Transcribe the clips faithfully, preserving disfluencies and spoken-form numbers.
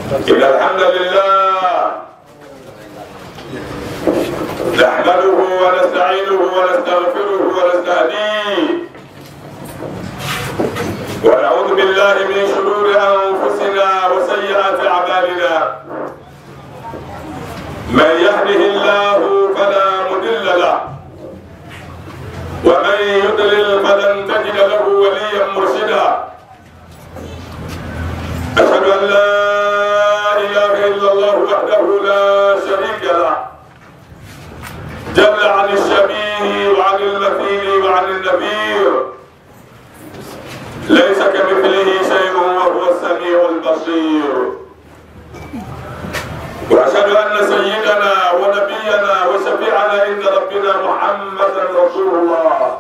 إن الحمد لله نحمده ونستعينه ونستغفره ونستهديه ونعوذ بالله من شرور أنفسنا وسيئات أعمالنا من يهده الله فلا مضل له ومن يضلل فلن تجد له وليا مرشدا أشهد أن لا إله إلا الله وحده لا شريك له جل عن الشبيه وعن المثيل وعن النذير ليس كمثله شيء وهو السميع البصير وأشهد أن سيدنا ونبينا وشفيعنا عند ربنا محمدا رسول الله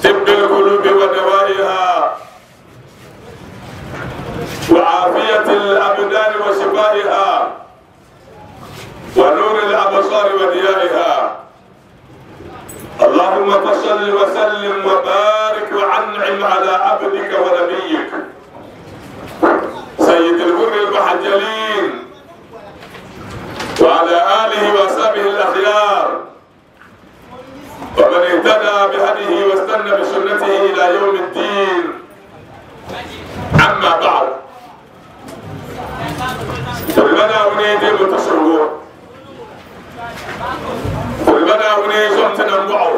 طب القلوب ودوائها وعافية الأبدان وشفائها ونور الأبصار وضيائها اللهم فصل وسلم وبارك وأنعم على عبدك ونبيك سيد الغر المحجلين وعلى آله وصحبه الأخيار ومن اهتدى بهديه واستنى بسنته إلى يوم الدين. أما بعد، تلمنا ونيدي متصور تلمنا ونيزمتنا معه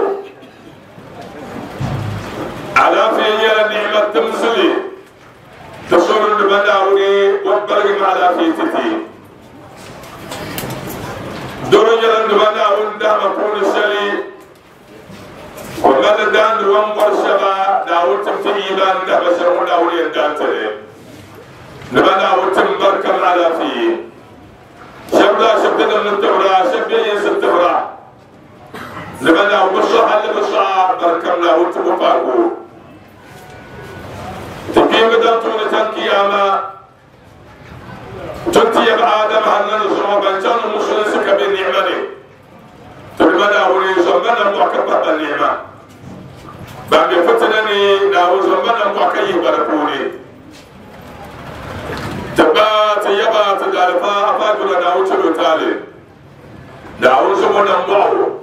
على في نعمة تمثلي تصور لمنا وني وبرغم على في تتي درجة لمنا وندام كون السلي ومن دان دوام ورشبا داوتم في إيمان دهب شرعنا ولي دانتري لمنا وتم بركم على فيه شبلا شبنا من التوراة شبين التوراة لمنا وبشرح اللي بشرح بركمنا وتم فاقو تقيم دانتون تنكياما تنتي آدم هل نزعم بنجان المسلم سكب النعمة تلمنا ولي زمنا معكبة النعمة بعد فتنني ناو زمنا معكي بركوني تبات يبات دارفا أفاقنا ناو تلو تالي ناو زمنا معه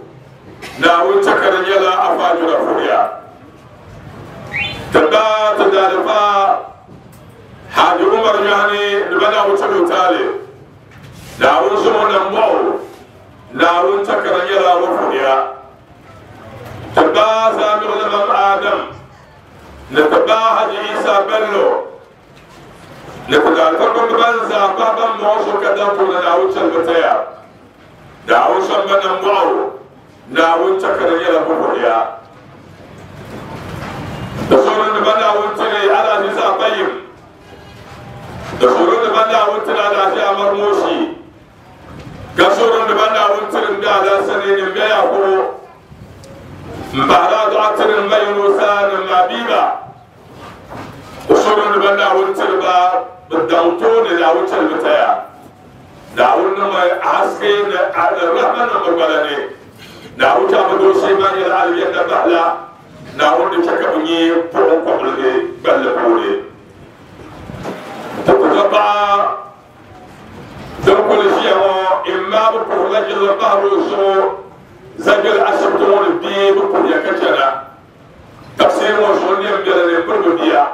ناو تكر يلا أفاقنا فوريا تبات دارفا حاج عمر يعني لبنا وتلو تالي ناو زمنا معه ناو تكر يلا وفوريا تبا سامر لمن آدم نتبا حج عيسى بلو نتبا الفرق بنزا بابا موشو كدامتو ناو تلبتيا ناو سمنا معه ناو تكر يلا وفوريا تصور لبنا وتلي على عيسى طيب تصور لبنا وتلي على عيسى مرموشي كسور لبنا وتلي على سنين بيا مبارا دعتر الميروسان المابيبا وصور لبنا وتربا بالدوتون لا وتربتيا داون ما عسكين على الرحمن مربلاني داون تابدو شيمان العالية بحلا داون تشكبني فوق قبل بل تتبع تقول شيء إما بقول البحر وشو زجل عشرتون الدين بقول كشنا تفسير وشوني من البروديا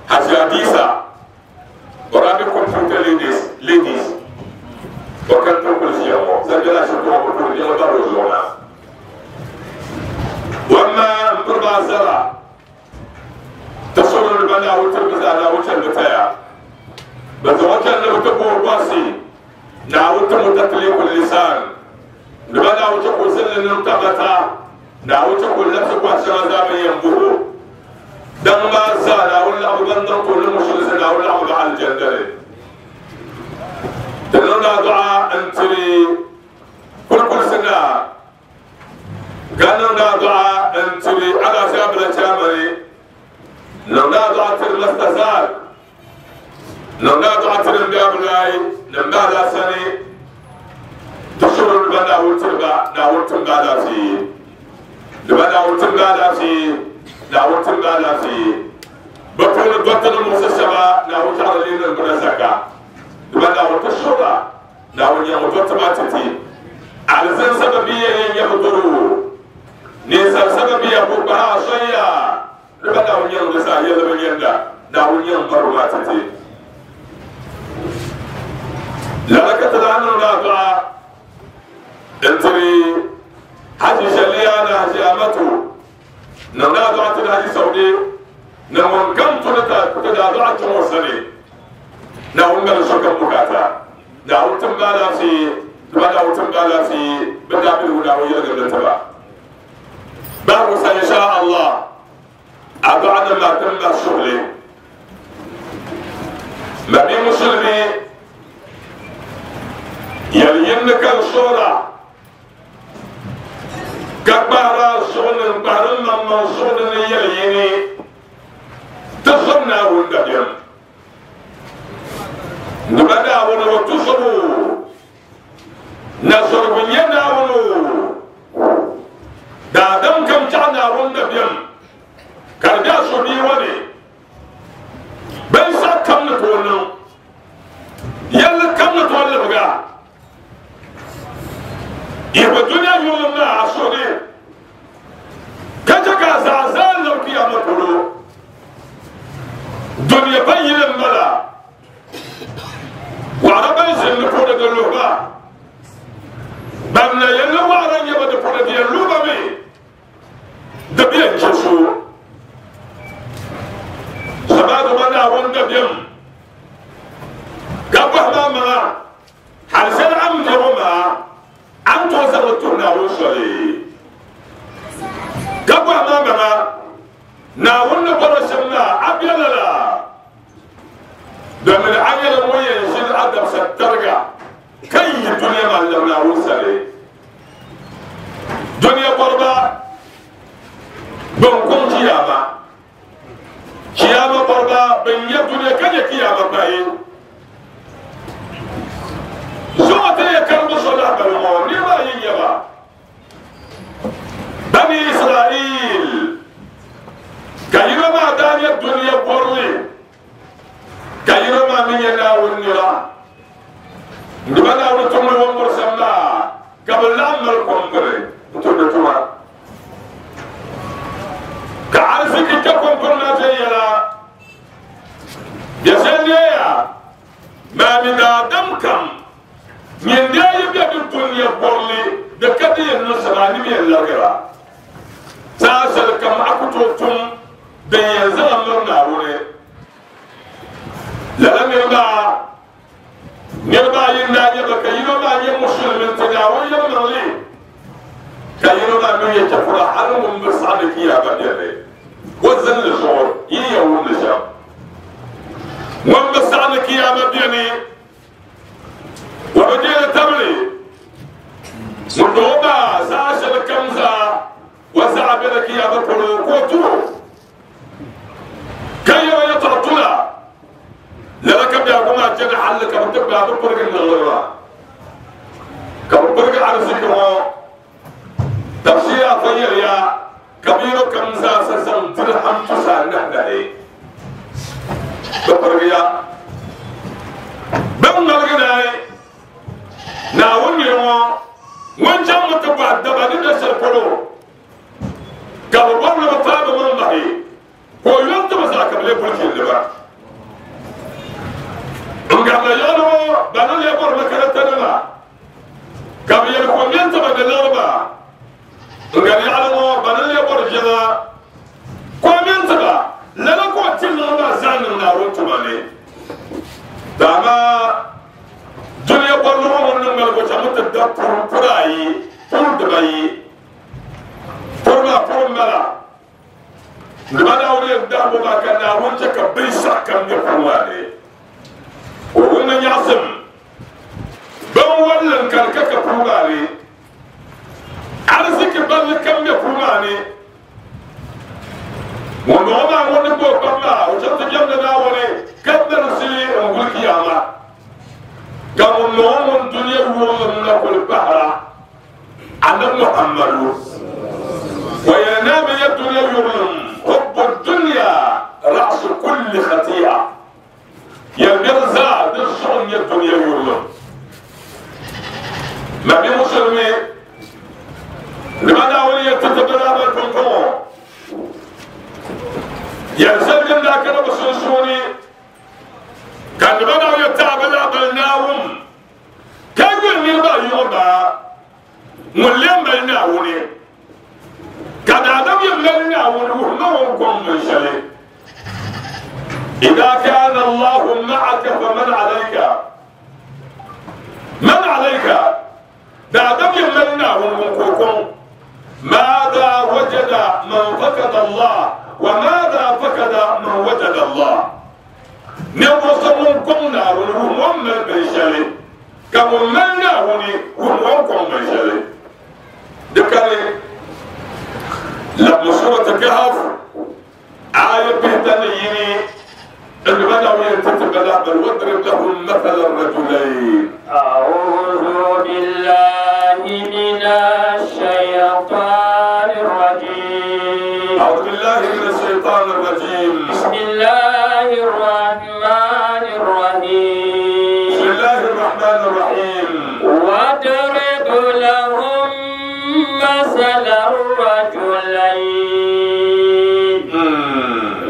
حسياديسا ورابي كمبيوتر ليديز ليديز وكان تقول شيء زجل عشرتون بقول يلا بروزونا وما بربع زرع تصور البنا وتلبس على وجه البتاع بس وجه اللي بتقول باسي نعود متطلق اللسان لبدا وتقول سن نمتبتا نعود تقول نفسك وحشرة زامي ينبهو دم ما زال ولا أبو بندر كل مشرس ولا أبو على الجندل تنونا دعاء أنتري كل كل سنة قالوا دعاء أنتري على شاب الشامري لولا دعاء المستزال لولا دعاء المبلاي لما لا سني تشعر البنا وتربا ناوتم بالا في البنا وتم بالا في ناوتم بالا في بطل بطل المستشفى ناوت على لين البرزقة Naawuni mali sokam bukaata Naawuni tim ba alaafee ti ba Naawuni tim ba alaafee bɛ daabiligu Naawuni yɛligirili tiba bahigu sa insha Allah adu'a nim maa tim ba suhuli ma bi musulmi yɛli yinni ka n suhura ka kpahara zuɣu ni n kpahari n maŋmaŋ zuɣu ni ni yɛli yini ti zom Naawuni dabiɛm ni ba Naawuni o tuzubu na zɔrigu nyɛ Naawuni o daadam kam chaɣ Naawuni dabiɛm ka di be a so bia ŋɔ ni binshɛɣu kam ni tooi niŋ yɛlli kam ni tooi libiga yihi dunia yurilim maa a suhu ni ka chɛ ka a zaa zaa lab kiyama polo dunia pa yili m-bala waɣara ban ʒini di puuni di luhi ba ban na yɛn ni waɣara n-nyɛ ba di puuni di yɛn luhi ba mi di bi yɛn chɛ so sabaadu ba Naawuni dabiɛm ka bɔhi ba maŋa hali shɛli a ni bɛ ŋɔ maa a ni tooi zaŋ li tuhi Naawuni soli ka bɔhi ma maŋa Naawuni ni bɔri shɛm maa a be lala domin a nyɛla ŋun yɛn ʒini a dabisa tariga ka yi dunia maa n-labi Naawuni sani dunia bɔriba bɛn kɔŋ kiyama kiyama bɔriba bɛn nya dunia ka nya kiyama pahi zuɣu ti yɛ karimbu so lahibali ŋɔ niriba ayi n-nyɛ ba Bani Israel ka yino maa daa nyɛ dunia bɔrili ka yino maa mi nyɛ Naawuni nira n-di ba Naawuni tumdi wɔmbiri shɛm maa ka bɛ laɣim mali kom biri n-tumdi tuma ka ariziki kpe kom biri maa viɛnyɛla bɛ shɛli neeya maa mi daadam kam nyin daa yi be di dunia bɔrili di ka di yɛn niŋ shɛm a nini yɛn larigira saa shɛli kam a ku tooi tum din yɛn zaŋ a miri Naawuni lala niriba niriba ayi n-daa nyɛ ba ka yino maa nyɛ musulimi nti Naawuni yɛlimaŋli ka yino maa mi nyɛ chɛfura hali ŋun bi saɣi ni kiyama beni o zinli zuɣu yi yɛn wumdi shɛm ŋun bi saɣi ni kiyama beni o bi deeri tabili ŋun doo maa zaa shɛli kam zaa o zaɣa bela kiyama polo ka o turo ka yɛra yɛtɔɣa tula lala ka biɛhigu maa chani halli ka bɛ ti gbaai bɛ pirigi niŋli maa ka bɛ pirigi ariziki ŋɔ tafsiri afa yɛliya ka bɛ yino kam zaa sa zaŋ dirham tusa anahi nahi bɛ pirigiya bɛ ŋmaligi naai Naawuni niri ŋɔ ŋun chaŋ mi ti bɔhi daba ni be shɛli polo ka bɛ bɔri ni bɛ paai bɛ maŋ bahi ka o yɔn ti bɛ zaa ka bɛ leei bulichindi ba n garila yaɣili ŋɔ ba ni lee bɔri makaranta nima ka bɛ yɛli ko mɛn ti ba ni liɣiri ba n gari yaɣili ŋɔ ba ni lee bɔri jiŋa ko mɛn ti ba lala ka o ti liɣiri maa zaa niŋ Naawuni tuma ni dama dunia bɔrili ŋɔ ŋun niŋ maligu chaŋ ti da puri puri ayi puri dibayi puri maa puri m-bala ni ba Naawuni yɛn dahibu maa ka Naawuni chɛ ka binshɛɣu kam nyɛ puri maa ni o wumdi nyaɣisim binwalli n-kani ka ka puri maa ni ariziki balli kam be puri maa ni ŋun bɔŋɔ maa ŋun ni gbubi kpam maa o chaŋ ti jɛmdi Naawuni ka mirisi n-guli kiyama ka ŋun bɔŋɔ ŋun dunia yurilim na kuli pahira Annabi Muhammadu wa yɛli ni a bi nya dunia yurilim hubbu dunya ra'su kulli khati'a yɛlibɛri zaa di zuɣu n-nyɛ dunia yurilim Nabi Musulmi ni ba Naawuni yɛn ti ti bi lahibali pumpɔŋɔ yɛli shɛli din daa kana bɛ sunsuuni ka ni ba Naawuni yɛn ti a bi lahibali Naawuni ka yuli niriba ayi ŋɔ maa ŋun lee mali Naawuni ka daadam yɛn mali Naawuni wuhi ma o ni gɔŋ binshɛli إذا كان الله معك فمن عليك من عليك دعدم يمنعهم منكوكم ماذا وجد من فقد الله وماذا فقد من وجد الله نبصركم نار هم من بشري كم من نارني هم وكم بشري ذكري لما سورة الكهف آية بهتنيني اللي بدأوا ينتبه بل واضرب لهم مثل الرجلين. أعوذ بالله من الشيطان الرجيم. أعوذ بالله من الشيطان الرجيم. بسم الله الرحمن الرحيم. بسم الله الرحمن الرحيم. واضرب لهم مثل الرجلين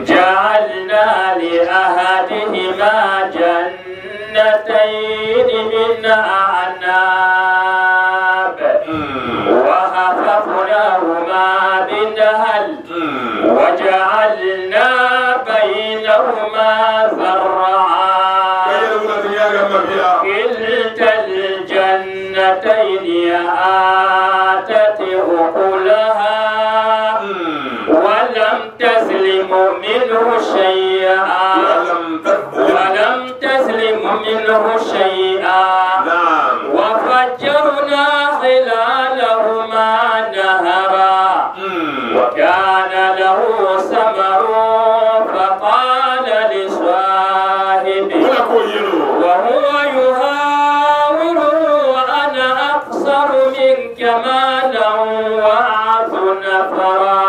جعلنا لأحدهما جنتين من أعناب وحففناهما بنهل وجعلنا بينهما زرعا كلتا الجنتين آتت أكلها ولم تظلم منه شيئا ولم تظلم منه شيئا وفجرنا خلالهما نهرا وكان له ثمر فقال لصاحبه وهو يهاوره أنا أقصر منك مالا وأعز نفرا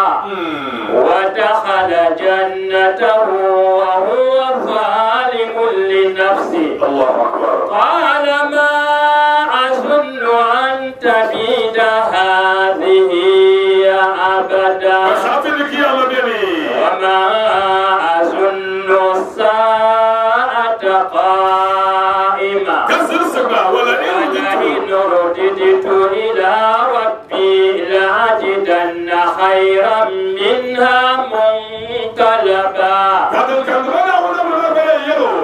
ودخل جنته وهو ظالم لنفسه. الله أكبر. قال ما أظن أن تبيد هذه أبدا وما أظن الساعة قائمة ولئن رددت إلى ربي لأجدن خيرا منها منقلبا.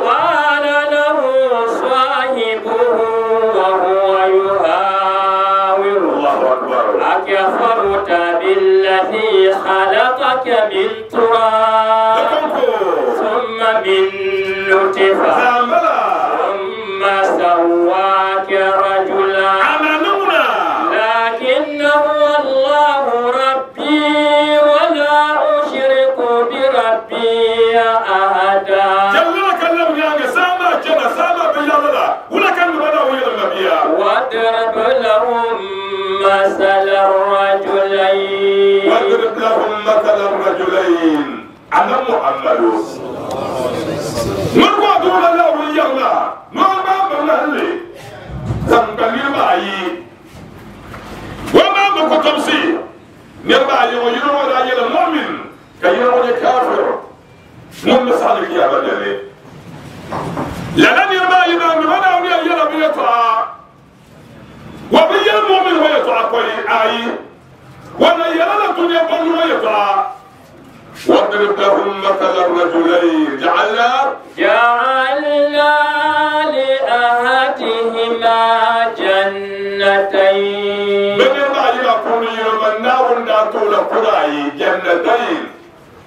قال له صاحبه وهو يهاوره أكفرت بالذي خلقك من تراب ثم من نطفة ثم سواك رجلا لكن هو الله ربي ولا أشرك بربي أحدا. واضرب لهم مثل الرجلين واضرب لهم مثل الرجلين أنا محمد من قادر الله يلا ما ما من زنبلي معي وما مكتمسي نربع يوم ولا يلا مؤمن كيرو كافر من مسالك يا بدري لأن يربع يبان ولا يلا بيطلع وبيا المؤمن ويطلع كوي آي ولا يلا الدنيا بل ويطلع. واضرب لهم مثل الرجلين جعلنا جعلنا لأحدهما جنتين من يربع يكون يوم النار ناتول قرعي جنتين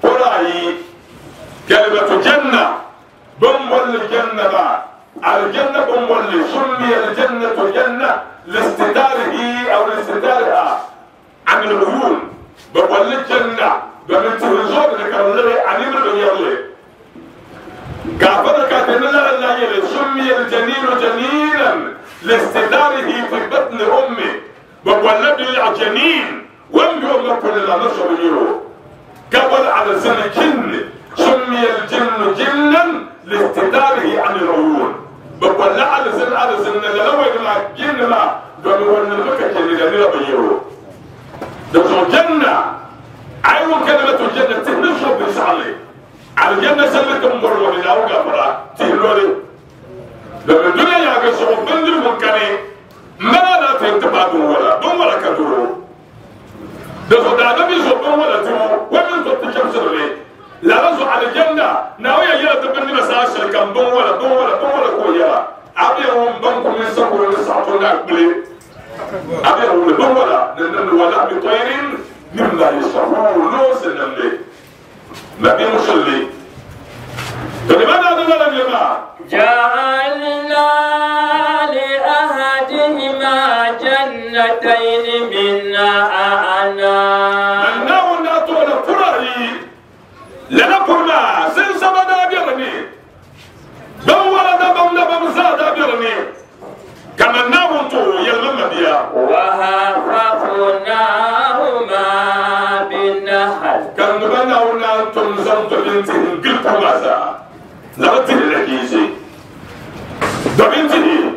قرعي كلمة جنة بمول الجنة الجنة بمول سمي الجنة جنة لاستداره أو لاستدارها عن العيون بمول الجنة بمن تهزور لكرلي عن العيون كافر كاتب لا لا سمي الجنين جنينا لاستداره في بطن أمه بمول الجنين وم يوم كل لا نشر يرو قبل على سنة جن سمي الجن جنا لاستداره عن العيون بقول على سن على سن لو ما جن ما دون ونبكة اللي لا بيرو دخل جنة أيوة كلمة الجنة تنشر بسعلي على الجنة سلتهم مرة من أوجه برا تهلولي لما الدنيا يا جسر بندر مكاني ما لا تنتبه ولا دون ولا كدرو دخل عدم يزبون ولا تمو ومن تتشمس لي لا رزق على الجنة ناوية يلا تبني ولحم طير مما يشتهون لوس النمل ما بيمشلي فلماذا هذا الجماعة؟ جعلنا لأحدهما جنتين من أعناب أنه ناتونا فرعي لنا فرنا سنسبنا بيرني بم ولد بم بم زاد بيرني كما ناوتو يلمم بيا وحففناهما بالنخل كان بناونا تنزمت بنتهم قلت ماذا لغتي الحكيزي دبنتي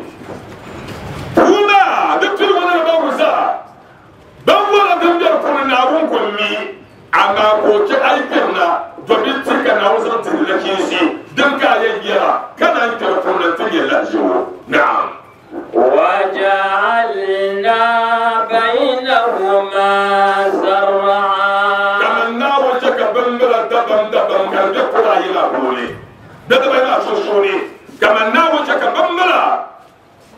هما دكتور وانا بوزا بم ولد بيركون نارون كمي أما كوكي أيكنا دبنتي كان وزنت الحكيزي دمك يجيرا كان يكرفون تجي الأجو نعم وجعلنا بينهما زرعا كما النار جك بمبرا دبم دبم كان يقرا إلى بولي دبم إلى شوشوني كما النار جك بمبرا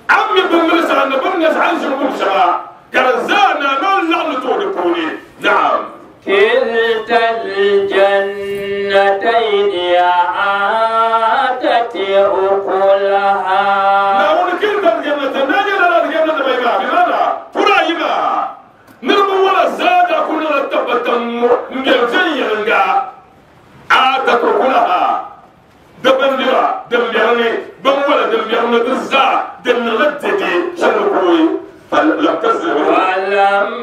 عمي بمبرا سأنا بمبرا عن شنو شرا كرزانا ما لعنة بولي نعم كلتا الجنتين آتت أكلها نقول كلتا الجنتين نجد الجنة بينها بماذا؟ فرايما نرمو ولا زاد كنا نتبتم نجزي لنجا آتت أكلها دبندرا دمبيرني بمولا دمبيرني دزا دملتدي شنو فلم تزلم ولم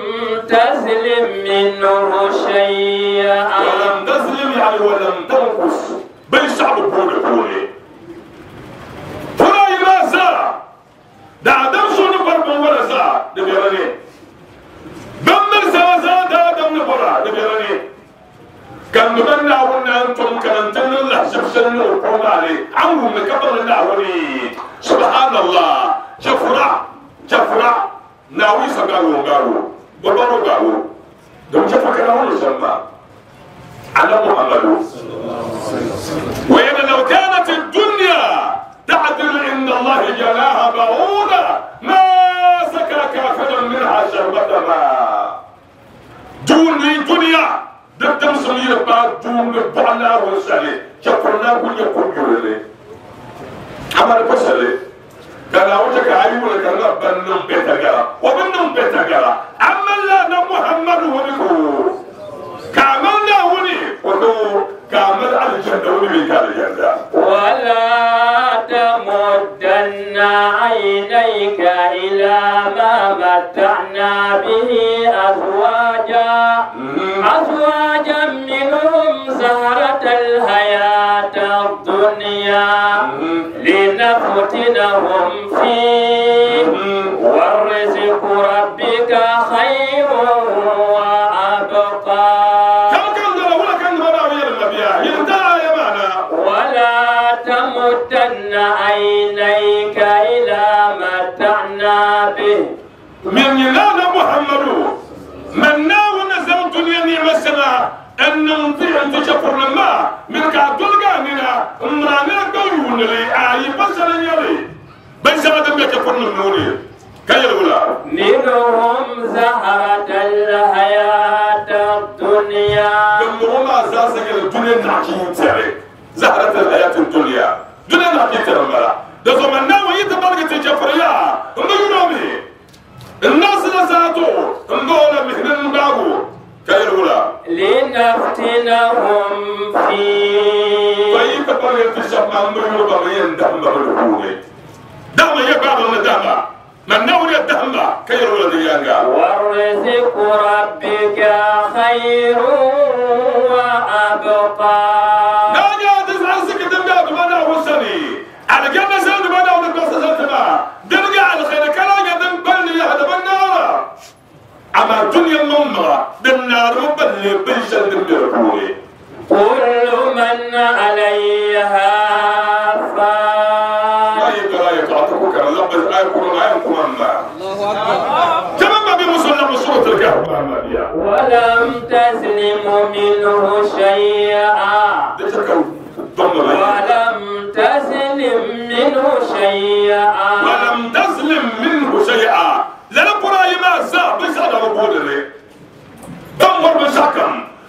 تزلم منه شيئا ولم تزلم يعني ولم تنقص بل شعب بولي بولي فلا يرازا دا دم شنو فرق ولا زا دبيرني بمر زا دا دم نبرا دبيرني كان نبنا ونا انتم كان تن الله شفشن وقوم عليه عمو مكبر الله سبحان الله شفرا شفرا ناوي سغارو غارو بابا غارو دم شفا كان سما على محمد وإن لو كانت الدنيا تعدل عند الله جناها بعوضة ما سكى كافرا منها شربة ماء دون الدنيا دم سمير بعد دون بعنا وسالي شفرنا كل يقول لي عمل بسالي كان أوجك عيونك كان بنم بيتجارة وبنم بيتجارة أما لا محمد ونكو كاملنا وني ونو كامل على الجنة وني بيك على الجنة ولا تمدن عينيك إلى ما متعنا به أزواجا أزواجا منهم زهرة الحياة الدنيا لنفتنهم فيه والرزق ربك خير وأبقى ولا تمدن عينيك إلى متعنا به من ينال محمد من ناو نزل الدنيا نعم السماء أن نطيع أن تشكر لما من كعبد القاننا امرانا قيون لي آي بشر يلي بشر دم يكفر من كي منهم زهرة الحياة الدنيا منهم أساسا الدنيا نحكي تري زهرة الحياة الدنيا دنيا نحكي ترى مرة ده زمان ناوي يتبرك تجفريا إنه الناس نساتو إنه مهنن باغو كيرولا لنفتنهم فيه طيب تبرك تشمع إنه يبغين دم بالقوة دم يبغى من دم من نوري الدم كيرولا ديانغا والرزق ربك خير وأبقى ناجا تزعزك دم بنا وسني على جنة سند بنا ونقص سنتنا درجة على خير كلا جدم بل يهدم النار أما الدنيا ممرة النار بل بلشن دم كل من عليها فان لا يقرأ يتعطوك الله بس آية كل آية كل الله أكبر كما ما بمسلم سورة الكهف ولم تزلم منه شيئا ولم تزلم منه شيئا ولم تزلم منه شيئا لنا قرأي ما زا بس هذا ربود لي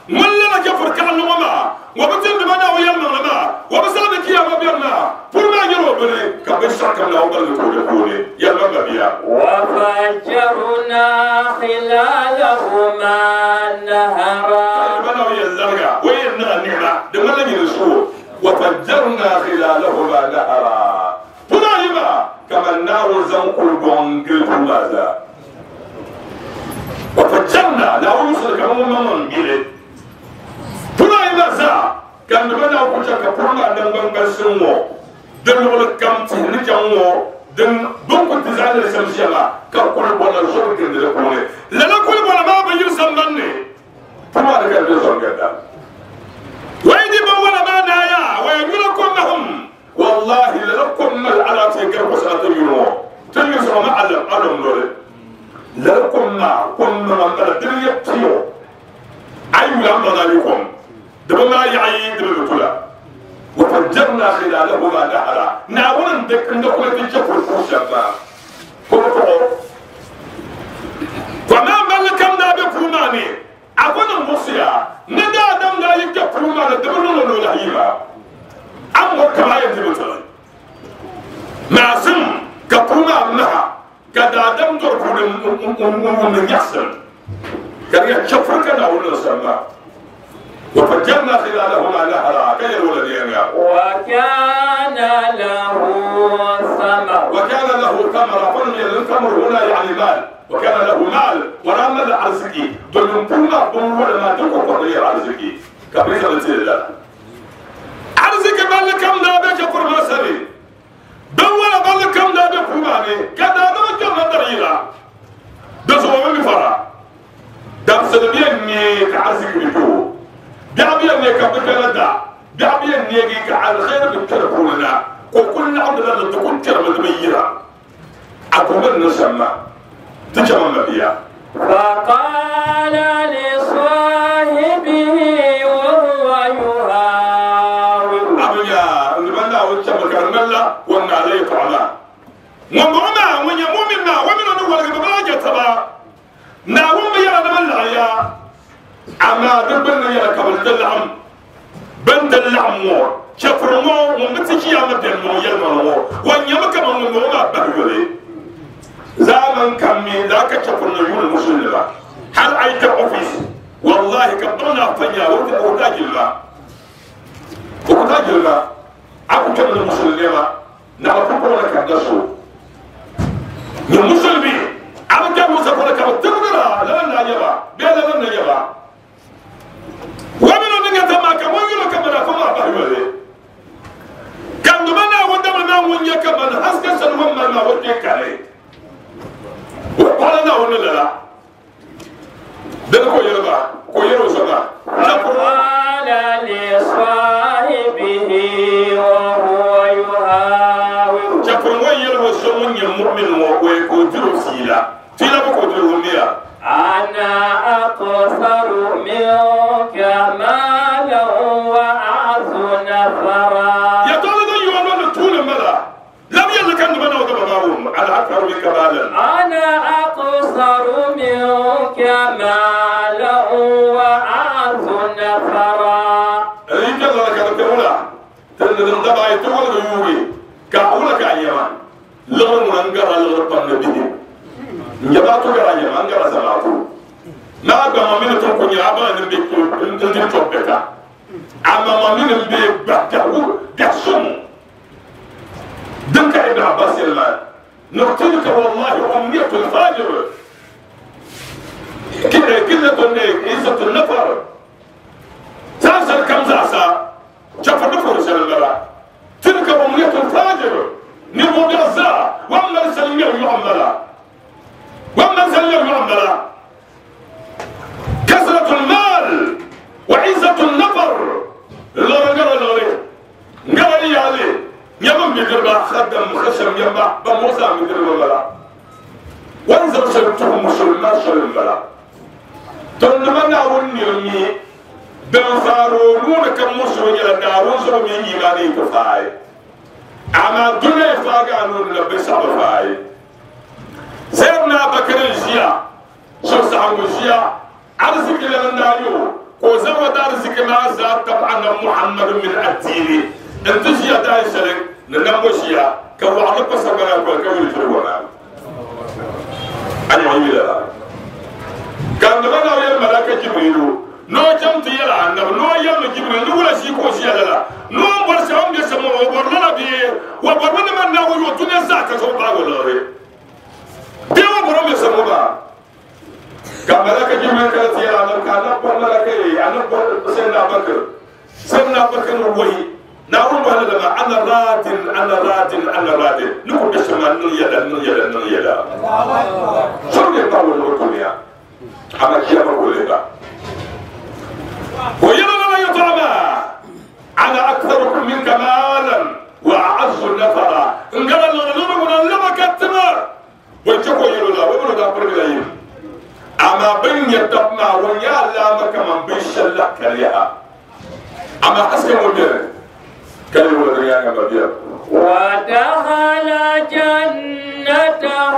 من لا كفر كان وما وبتند بنا ويلنا ما وبسلم كيا بيرنا فرما يرو بني كبشك لا وبل كل كل يا ما بيا وفجرنا خلالهما نهرا بنا ويلنا ويلنا النعمة دمنا يرسو وفجرنا خلالهما نهرا فنايما كما النار زنقل بونجل فمازا وفجرنا لا وصل كما من جيل فنايما زا كان بنا وكوشا كفرنا دم بسمو دم ولا كم تهنجمو دم دم كنت زعل الشمسية كقول ولا شرك اللي لا لا كل ولا ما بيجي سمني فما رجع بيزون كذا ويدي ولا ما نايا ويقولكم لهم والله لكم على تلك وسنة يوم تلك ما علم علم نور لكم ما كنا من الدنيا تيو أيوة ما ذلكم دبما يعيد بالكلا وفجرنا خلالهما نهرا ناولا دك ندخل في جفر الفرشة فما ملكم لا بفرماني أقول المصيا ندى دم لا يكفرمان دبلون ولا هيما أم كما يجب ما سم كفرما منها كذا دم ترفض من يحسن كان يكفر كذا ولا سما وفجرنا خلالهما نهرا كي الولد وكان له ثمر وكان له ثمر فني الثمر هنا يعني مال وكان له مال ورام الأرزقي دون كل دون ولا ما تقول قضية الأرزقي كبريت الله أرزق مال كم نابع كفر مسري دون ولا مال كم نابع كماني كذا ما كم ندريلا دسوا من فرا دم سلبيا نيك أرزق بيجو دعبيا نيك بكرة دعبيا نيك على الخير بكرة كلنا وكل عبد تكون كرة مدميرة أقوم نسمع تجمع مبيا فقال لصاحبه وهو يهاور أبيا نبنا وتشبك الملا وأن عليه طعنا ومعنا ويمومنا ومن أول قبل تبا ناوم يا نملا يا أما دبنا يا قبل تلعم بنت العمور شفرمو ومتشي يا مدمو يا المرو وأن يمك من المرو بهولي زمن كمي ذاك شفرنا يقول المسلم هل أيت أوفيس والله كبرنا فيا وتاج الله وتاج الله أبو كم المسلمين نعرف كنا كدسو المسلمين أبو كم مسافر كم تقدر لا لا يبا بلا لا يبا ومن أن يتما كم وين كم رفما بهولي كم دمنا ودمنا وين يكمل حسك سلوم ما ودي كاري وقالنا ولا لا ده كو يربا كو يرو سما قال لصاحبه وهو يهاور شكرا وين سمون المؤمن ويكو سيلا سيلا بكو درو أنا أكثر منك مالا وأعز نفرا يا طالب يوم طول الملا لم يلك أن بنا وضبابهم على أكثر منك مالا أنا أكثر منك مالا وأعز نفرا أريد الله كان تقولا تنزل دبا يتقول يوغي كأولا كأيما لغن رنجر لغن النبي نجباتو كأيما أنجر زماتو ما أبغى من تكون يا أبا نبي نبي تبكى أما ما من نبي بكى بيحسن دنك ابن عباس المال نقتلك والله أمنية الفاجر كده كده عزة النفر ساسر كم زعسا شاف النفر سلم تلك أمنية الفاجر نبو بيزا وأما سلم يعمل وأما سلم يعمل كثرة المال وعزة النفر لا لا لا لا لا عليه يمن بيقرب خدم خشم يما بموسى بيقرب بلا وانزل شرطهم مسلمان شرم بلا تنمنا ونرمي بنفارون كم مسلم يلا دارون سو من إيماني كفاي أما دنيا فاقانون لبس أبفاي سيدنا بكر الشيا شو سعو الشيا أرسك لنا نايو وزو دار زكما زاد طبعا محمد من الدين انت شيا داي شرك ننمشيا كوعد بسبنا كل فروانا انا يلا كان دبنا يا ملائكه جبريل نو جمت يلا النبي نو يم جبريل نو ولا شي كو شي لا نو برسام بيسمو وبرنا بي وبرنا من ناو يوتنا زاكا سو باغو لوري ديو برو بيسمو با كملك جبريل كانت يلا انا كان ملك انا سيدنا بكر سيدنا بكر وهي ناول ولا لما انا راد انا راد انا راد نكون بسما نو يلا نو يلا نو يلا شو يطول الدنيا اما كيما بقول ويلا لا يطعم انا اكثركم منك مالا واعز نفرا ان قال لنا لما كتمر ويتكو يلا ويقولوا ده برجلين اما بين يتبنا ويا لا مكان بيشلا كليها اما حسب مدير كلمه ودريان مدير ودخل جنته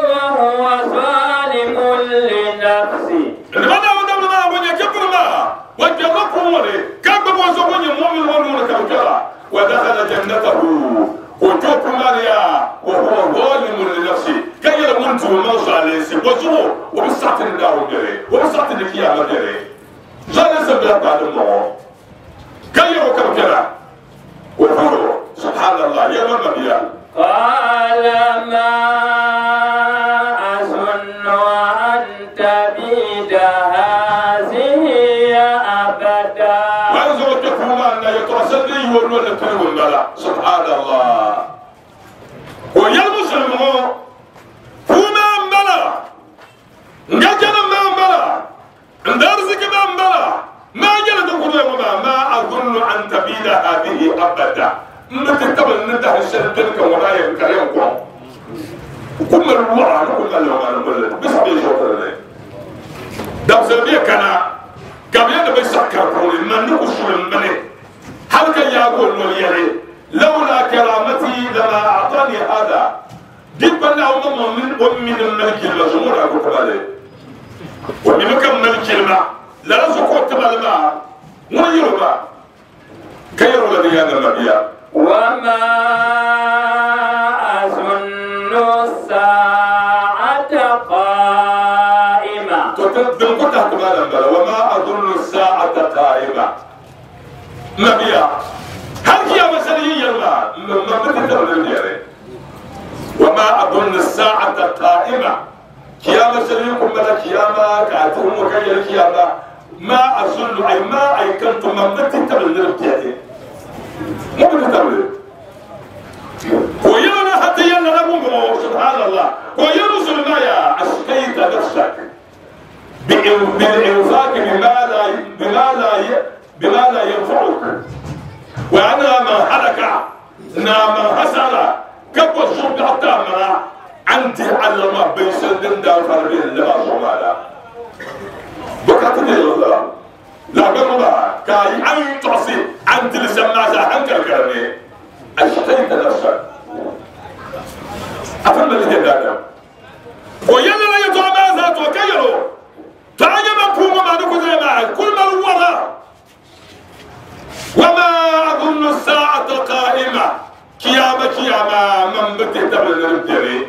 وهو ظالم لنفسه لماذا ودمنا ما ونيا كبر ما وجربهم ولي كبر وزوني مؤمن ونور كبر ودخل جنته وجوب ماريا وهو ظالم لنفسه كي يموت وما عليه وزو وبسعت النار جري وبسعت القيامة جري جالس بلا بعد الموت كي يركب كذا وفرو سبحان الله يا من قال ما أظن أن تبيد هذه أبدا وأنظر تفهم أن يترسل لي ولو تقول سبحان الله ويا المسلمون فما أمبلا نجنا ما أمبلا ندرسك ما أمبلا ما جلد قدام ما أظن أن تبيد هذه أبدا نتكتب ننتهي الشرطة ورايا كريم قوم كل الوعي كل الوعي بس بيجوا دم سلبية كنا قبل أن بيسكر قولي ما نقص من مني هل كان يقول له لولا كرامتي لما أعطاني هذا دبنا أمم من أم الملك المزمور أقول كمالي ومن كم ملك الماء لا رزق الماء ويربا كيرو الذي هذا المبيع وما أظن الساعة قائمة وما أظن الساعة قائمة نبيا هل هي مسألة ما وما أظن الساعة قائمة كيما سليكم ملا كيما كاتهم وكي الكيما ما أظن أي ما أي كنت ما بتتبل نربتي ما بتتبل ويلا حتى يلا نبوه سبحان الله ويلا سلمايا أشقيت نفسك بالإنفاق بما لا بما لا بما لا ينفعك وأنا من هلك نا من خسر كبر الصوت حتى مرا أنت على ما بيسندن دار فربين لما زمالا بكرة الله لا بما كاي أن تعصي أنت لسما زهنك الكرني أشتيت نفسك أفهم اللي هذا ويلا لا يتوما ذات وكيرو تعجب كوما ما نكون مع كل ما ورا وما أظن الساعة قائمة قيامة قيامة من بتهتم للدري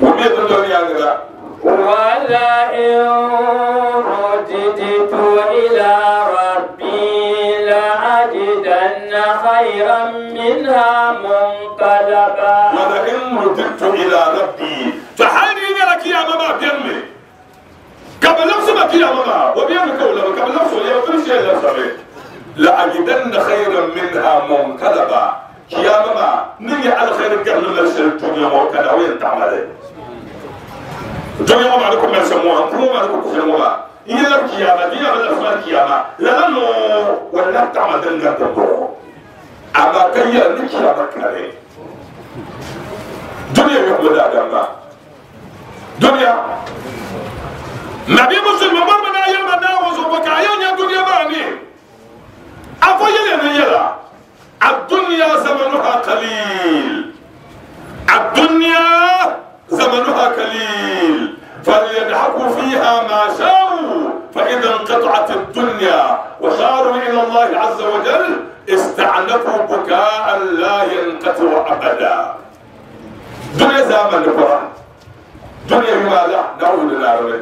وميت الدنيا لا ولئن رددت إلى ربي لأجدن خيرا منها منقلبا ولئن رددت إلى ربي فحالي لك يا ماما بيمي قبل نفس ما قيامة ما وبيمي كولا قبل نفسه يا فرش يا صبي لأجدن خيرا منها منقلبا قيامة ما نيجي على خير قبل ما الدنيا وكذا وين تعمل الدنيا ما عليكم ما يسموها كلهم عليكم كلهم إن القيامة دي على القيامة لأنه ولا تعمل لنا تبرو أما كي القيامة كاري دنيا يقول هذا دنيا نبي مسلم ما من أيام ما وزوجك أيام الدنيا ما أني أفضل يلا الدنيا زمنها قليل الدنيا زمنها قليل فليضحكوا فيها ما شاءوا فإذا انقطعت الدنيا الدنيا وصاروا إلى الله عز وجل استعنفوا بكاء لا ينقطع أبدا. دنيا زمن القرآن دنيا بما لا نعود لله.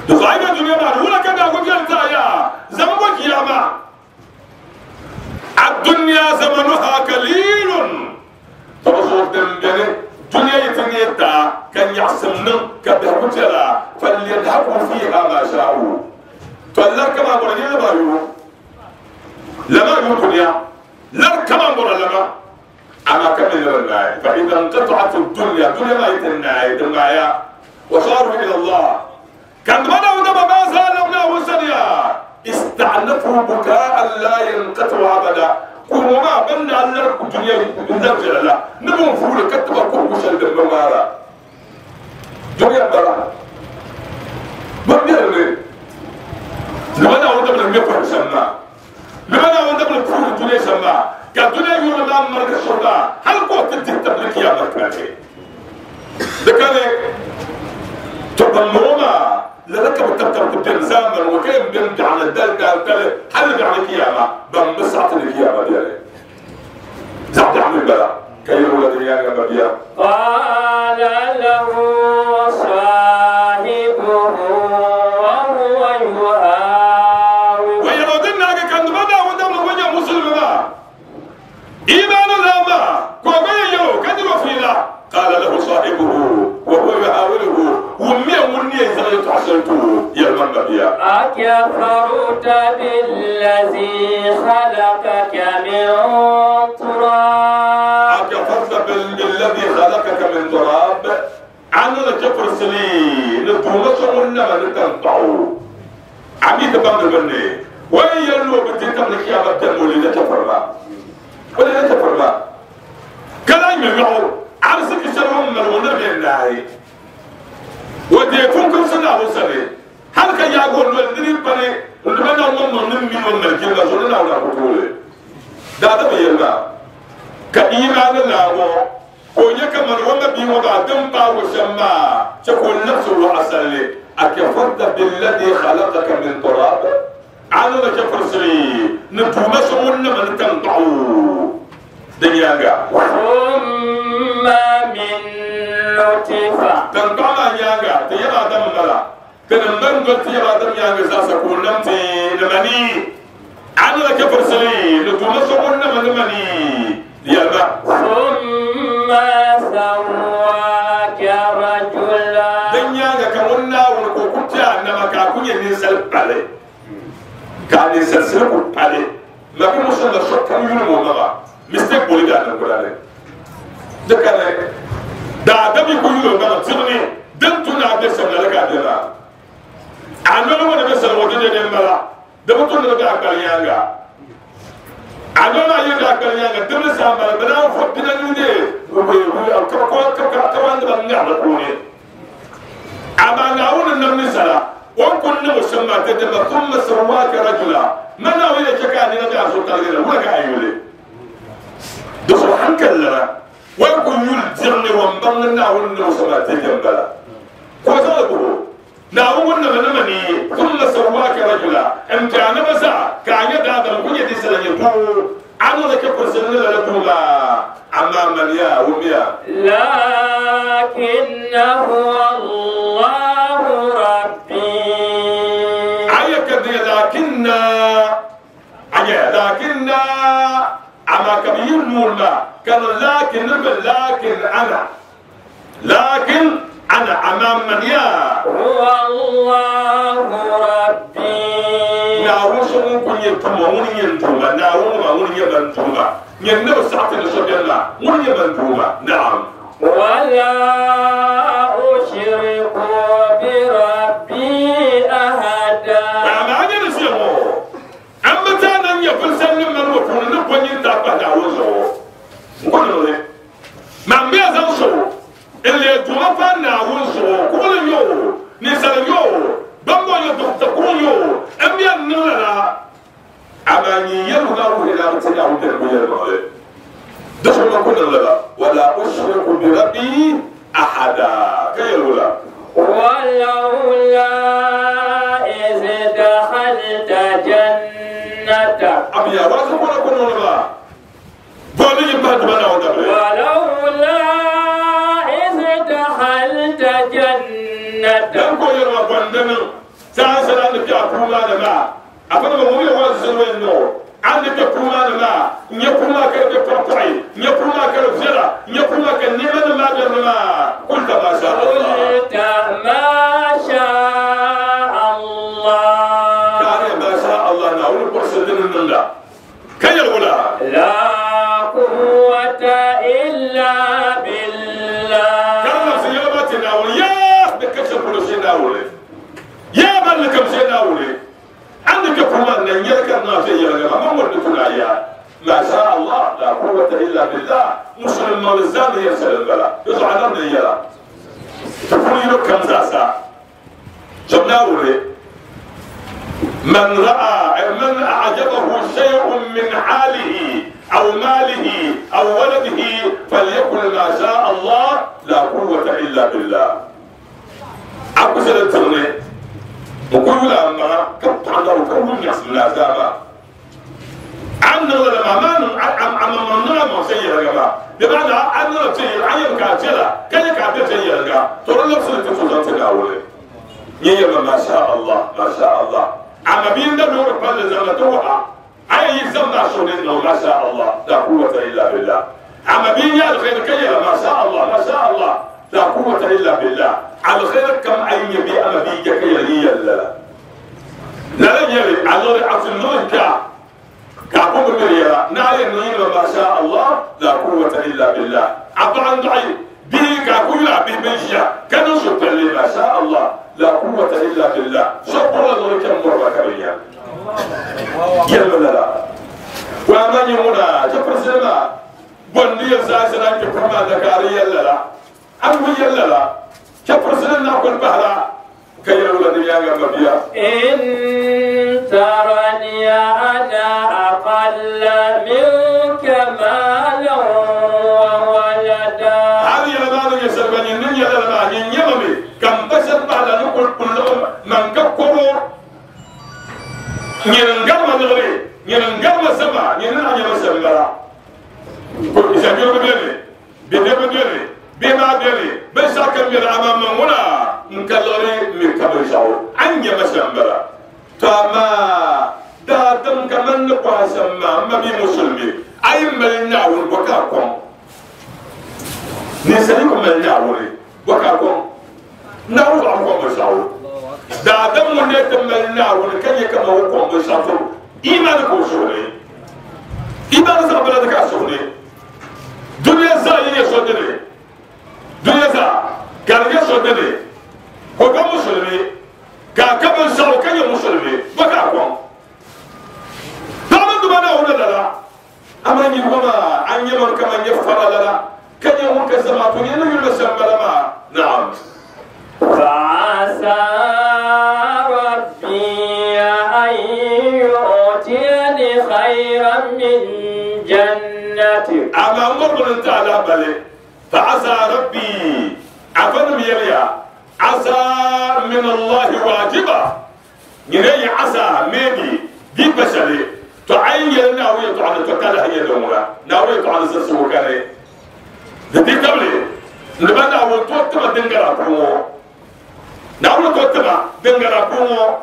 دعينا دنيا ما ولا كذا وجل تايا زمن قيامة. الدنيا زمنها قليل. تبصر دم دنيا يتنيتا كان يحسن كبهوتلا فليذهبوا فيها ما شاءوا. فلا كما قلنا لما يو لما يو دنيا لا كما قلنا لما أما كمل لنا. فإذا انقطعت الدنيا دنيا ما يتنعي دنيا وصاروا إلى الله كان بدأوا دم ما زالوا وسنيا استعنفوا بكاء لا ينقطع أبدا. كل ما بنا على الدنيا نرجع لا نبون فول كتب كل شيء بالمرة دنيا برا ما بيرني لما نعود من المفر سما لما نعود من فول الدنيا سما كالدنيا يقول ما مرة الشرطة هل قوة تهتم لك يا مركزي ذكرني تضمونا لذلك بتبتب تنزامر وكان بيمضي على الدلتا الثالث حل على القيامة بم بسعة القيامة ديالي زعت عن البلاء كي ولد يا نبيا. قال له صاحبه وهو يهاوره ويرودنا كان بدا ودم وجه مسلم إيمان لا ما كوبي كدر فينا. قال له صاحبه وهو يحاوره ومي وني إذا تعسلته يا المنبيا أكفرت بالذي خلقك من تراب. أكفرت بالذي خلقك من تراب. أنا كفر سنين نتوما ولا ما نتنطعو عمي تبان بني وين يلو بتتم لك يا بتم ولا كفر ما ولا كفر ما كلام يقول عرسك شرهم من ونبي الله وديكم كم سنة وسنة هل كان يقول ولدني بني ولدنا هم من من من الجنة زلنا ولا بطولة ده ده بيلا كإيمان الله كونك من ونبي وبعدم باوشما تكون نفسه وأصلي أكفرت بالذي خلقك من تراب على كفر سري نتوما سمونا من تنطعو دنيا ثم من نطفة تنطع يانغا تيرا دم ملا تنمن قلت تيرا دم يانغا ساسا كونمتي نمني على كفر سري نتوما سمونا من مني يلا ثم سواك رجلا دنيا كمنا ونكوكوتيا نما كاكوني نسال بالي كان نسال سلكو بالي ما كان مشان الشك كان يلمو نغا مستيك بولي دا نقولاني دكاني دا دمي كيلو نغا تغني دمتو نعبي سمنا لك عدنا عملو ما نبي سلو دنيا نملا دمتو نبي أكبر يانغا عملو يبي أكبر يانغا دمنا سامبلا بنا فبنا نودي أما نعون النمي سلا وكنا مسمى تدم ثم سواك رجلا ما ناوي شكاني نبي أسوق تغيير ولا كأيولي دخل حنك لنا وكن يلزمني ومبلنا نعون مسمى تدم بلا وزادوا نعون نمني ثم سواك رجلا أنت أنا مسا كأني دادم كن يدي سلا يقول أنا لك فرسنا لكم أما من يا وميا لكن هو الله ربي أي كذي لكن أي لكن أما كبير نورنا كان لكن لكن أنا لكن أنا أمام من يا هو الله ربي نعوش ممكن يتوما ونينتوما نعوما ونينتوما ينو ساعة الشبيلة ونينتوما نعم ولا أشرك بربي أحدا أما أنا نسيمو أما تانا يقول سلم من وفون نبني تابع نعوزه نقول ما بيزعل اللي توفى نعوزه كل يوم نسأل يوم بمبا يدق يوم أم ينلا أما يلغى إلى أرتنا وتنبيه دخل كل لا ولا أشرك بربي أحدا كي يلغى ولولا إذ دخلت يا واسو كنا كنا نبا بولي يبقى دبنا ودبر ولولا إذ دخلت جنتك دم كو يرى بندن سان سان في أكوما لما أفهم ما هو واسو نو عندك كوما لما نيكوما كرب نيكوما كرب زرا نيكوما كنيما ما جرنا قلت ما شاء الله قلت ما شاء الله كان ما شاء الله نقول برسلنا لله كي يقول لا قوة إلا بالله كان سيابتنا ويا بكشف كل شيء نقول يا من لكم شيء نقول عندك كمان نيرك النافية يا ما مر يا ما شاء الله لا قوة إلا بالله مسلم مالزان يسأل البلاء يزعل يلا تقول له كم زاسا جبنا ولي من رأى من أعجبه شيء من حاله أو ماله أو ولده فليقل ما شاء الله لا قوة إلا بالله أقصد الترني وكل ما كنت على وكل يحصل العذاب عندنا لما ما عم عم من ما سير يا جماعة بمعنى عندنا سير عين كاتلا كان كاتلا سير يا جماعة ترى لو سنت تفوز تناوله يا ما شاء الله ما شاء الله عم بين ده نور بل زمان توها عين يزمع شونين ما شاء الله لا قوة إلا بالله عم بين يا الخير كي ما شاء الله ما شاء الله لا قوة إلا بالله على الخير كم عين يبي أما بيجك يلي لا لا يلي على عبد النور كا كابو مريا نعلم نين ما شاء الله لا قوة إلا بالله عبد عند عين به كابو لا به بنشيا كانوا شو ما شاء الله لا قوة إلا بالله شكرا لك مرة كريم يلا لا لا وأنا يمونا جبر سما بندي زازنا كفما ذكاري يلا لا أبو يلا لا كفر سنة نأكل بحرا كي يقول لي يا مبيا إن ترني أنا أقل منك مالا وولدا هذه لما يسربني نيا لما ينيمي كم بشر بعد نقول كلهم من كفروا ينقر ما نغري ينقر ما سبع ينقر ما سبع كل إذا بيرو بيري بيرو بيري بما بيري بس أكمل أمام هنا نكلري من قبل شاو عني مسامبرا تما دادم كمان نقاسم ما ما بي مسلمي أي ملنا والبكاكم نسألكم ملنا ولي بكاكم نعود عنكم بشاو دادم من ملنا والكي كما هو بشاو إيمانكم شغلي إيمان زبلتك شغلي دنيا زايد يشودني دنيا زا كان يشودني هو مسلمي كاكب شاو كان مسلمي بكاكم دامن دبنا ولا لا أما يبغى أن يمر كما يفعل لا كان يوم كسمات ينو يسمى نعم فعسى ربي أن يؤتيني خيرا من جنتك أما أمر تعالى بلي فعسى ربي أفنم يليا عسى من الله واجبا يني عسى ميبي دي بشري تعين ناوي تعالى تكالا هي دوما ناوي تعالى سسوكاني دي قبلي نبدا وتوتما دنگرا كومو ناوي توتما دنگرا كومو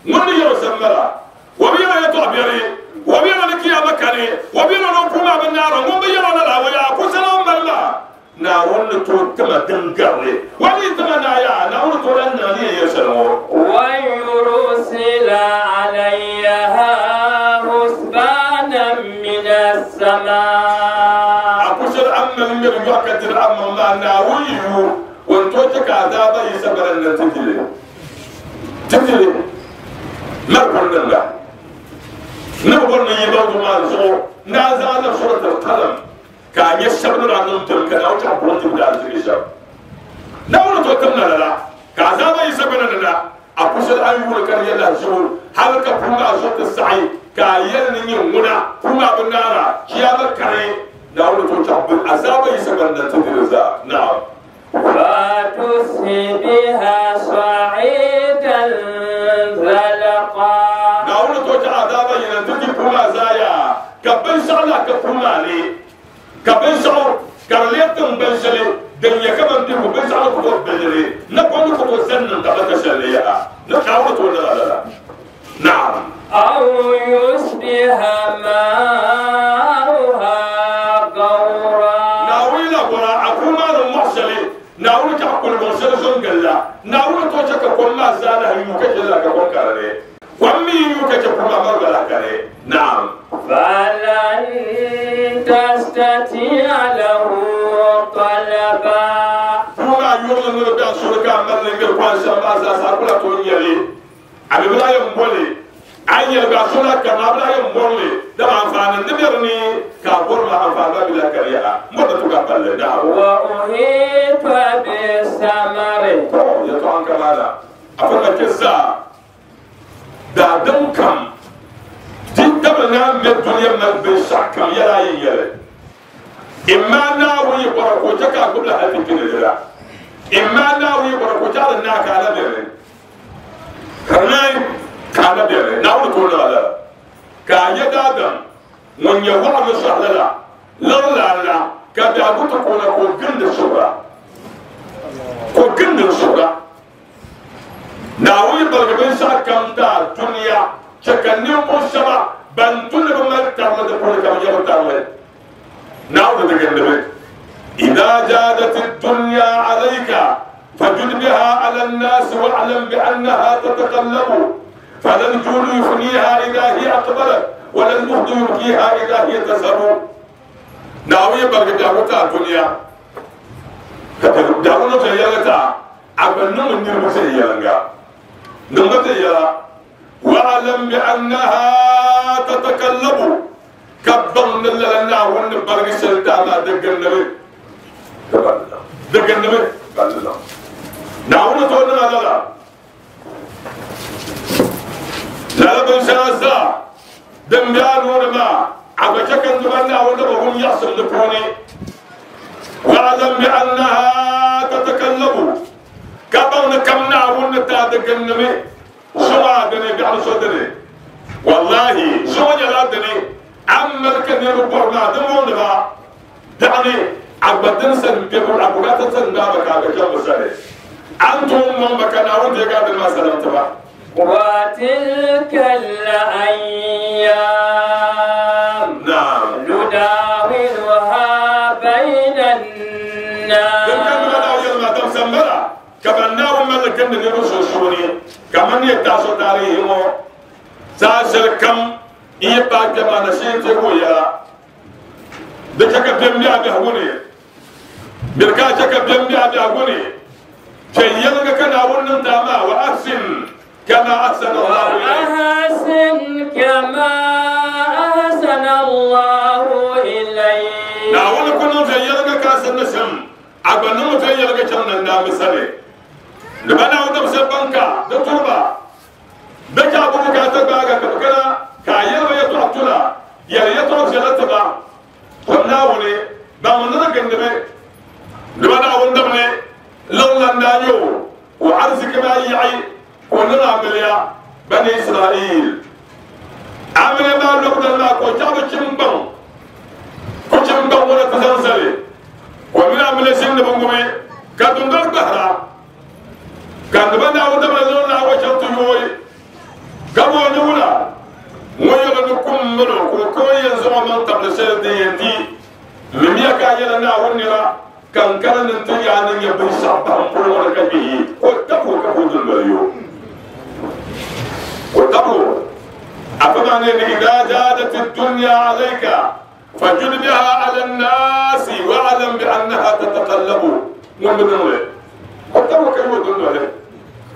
من يرسمرا وبينا يتعبيري وبينا لكيا مكاني وبينا نقوم بالنار وبينا لا ويا كسلام بالله ناون توتما دنگري ولي تمنا يا ناون تورنا لي يسلمو ويرسل عليها حسبانا من السماء أقصر أما من يوكد الأمر ما ناويه وانتوتك عذابا يسبر أن تجري تجري ما كنا لا نقول نيبرد ما نزور نازل سورة القلم كان يشبن عن نمتم كان أو تعبون تبدأ الزريشة نقول توتمنا لا كعذابا يسبر لا أقصر أن يقول كان يلا زور هل كفونا صوت السعي كاين نيمونا كما بنارا كيابا كري نقول توتم عذابا يسبر أن تجري نعم فتصبح بها صعيدا زلقا نقول توتم عذابا ينتجي كما زايا kumani ka bin shɛɣu ka di leei tiŋgbani shɛli din nyɛ kaman bihigu binshɛɣu ku tooi bilili napɔŋ ni ku tooi zani niŋ tabata shɛli ni yaha ni Naawuni tooi niŋ a lala. Naam. أو يصبح ماؤها غورا. Naawuni la bɔra a kuu maa ni mɔɣu shɛli Naawuni chɛ ka kuligiŋ shɛli zo n-gili la Naawuni tooi chɛ ka kom maa zaa lahi yuui ka chɛ lala ka kom ka di ni kom mi yi yuui ka chɛ kuu maa mari gba lahi kani. Naam. فلن تستطيع له طلبا. Kuu maa yurili ni di be a suri ka a mali li n-gili kɔŋ shɛm maa zaa sa a ku lahi tooi nyɛli a bi bi lahi yɛn boli a yi yɛli a suri la karina a bi lahi yɛn bori li dama anfaani ni be di ni ka a bori maa anfaani maa bi lahi kari yaha n bori ni tu ka palli. Naam. وأحيط بثمره. To yɛltɔɣa n kamaana a fa ka kpɛ zaa daadam kam di dabili naa mɛ duniya mali binshɛɣu kam yɛla a yi yɛli imma Naawuni yi bɔra ka o chɛ ka a gbubila hali ti kpini di la imma Naawuni yi bɔra ka o chɛ a di naa ka a la bɛni ka di naai ka a la bɛni Naawuni tooi niŋ a lala ka a nyɛ daadam ŋun nyɛ waɣa ni sɔhili la liɣiri laa la ka biɛhigu ti kuuna ka o gindi suhura ka o gindi suhura Naawuni baligi binshɛɣu kam daa duniya chɛ ka ninvuɣu shɛba ban tu ni bi mali tarili di puuni ka bi nyɛ bi tarili Naawuni di gindimi. إذا جادت الدنيا عليك فجد بها على الناس واعلم بأنها تتقلب فلا الجود يفنيها إذا هي أقبلت ولا المهد يبكيها إذا هي تذهب. ناوي بلغ دعوتها الدنيا دعوتها يلتا أبنم النرمسي يلنغا نمتي يلا واعلم بأنها تتقلب كبن لنا ونبرق سلطة ما دقن نبي دقن نبي نعون تولنا لا لا لا بن شازا دم بيان ونما عبشك ندمنا ونبهم يحصل لكوني واعلم بأنها تتكلم كبن كم نعون تادقن نبي سوا دني بيعمل صدري والله سوا جلادني أما الكنير بورنا دمون با دعني أبدن سن بيقول أبوغات سن بابك على كم سنة أنتم من بكنا وانت قاعد ما سلمت با. وتلك الأيام نعم نداولها بين الناس. كم بدأ يوم ما تسمرا كمن ناو من الكن نرسل كمن يتاسو تاريخهم ساشر كم إيه باك ما نشين تقول يا دكك بيم بيا بيهوني بركاتك بيم بيا بيهوني شيء يلقى كان أول نتاما وأحسن كما أحسن الله إليك. وأحسن كما أحسن الله إليك. ناول كنا شيء يلقى كاسن نشم أبنو شيء يلقى كنا ندام سلي لبنا ودم سبانكا دكتوربا دكا أبو كاتب باغا كبكلا كايل ويتوحتلا يا يتوح جلتبا وناولي بامنا كندبي لبنا وندمني لولا نانيو وعرسك ما يعي وننا عمليا بني إسرائيل عمل ما نقدر ما كوجاب كيمبان كوجامبان ولا تزنزلي ومن عمل سين بونغومي كادوندر بحرا كان بنا ودمنا لولا وشنتو يوي كابو نولا ويلا نكم منو كوكوي ينزو من قبل سير دي دي مميا كايلا نا ونرا كان كان نتيا نن يبن سابان بول ولا كبي وتبو كبو دليو وتبو أفمن إذا جادت الدنيا عليك فجد بها على الناس واعلم بأنها تتقلب ومن وتبو كبو دليو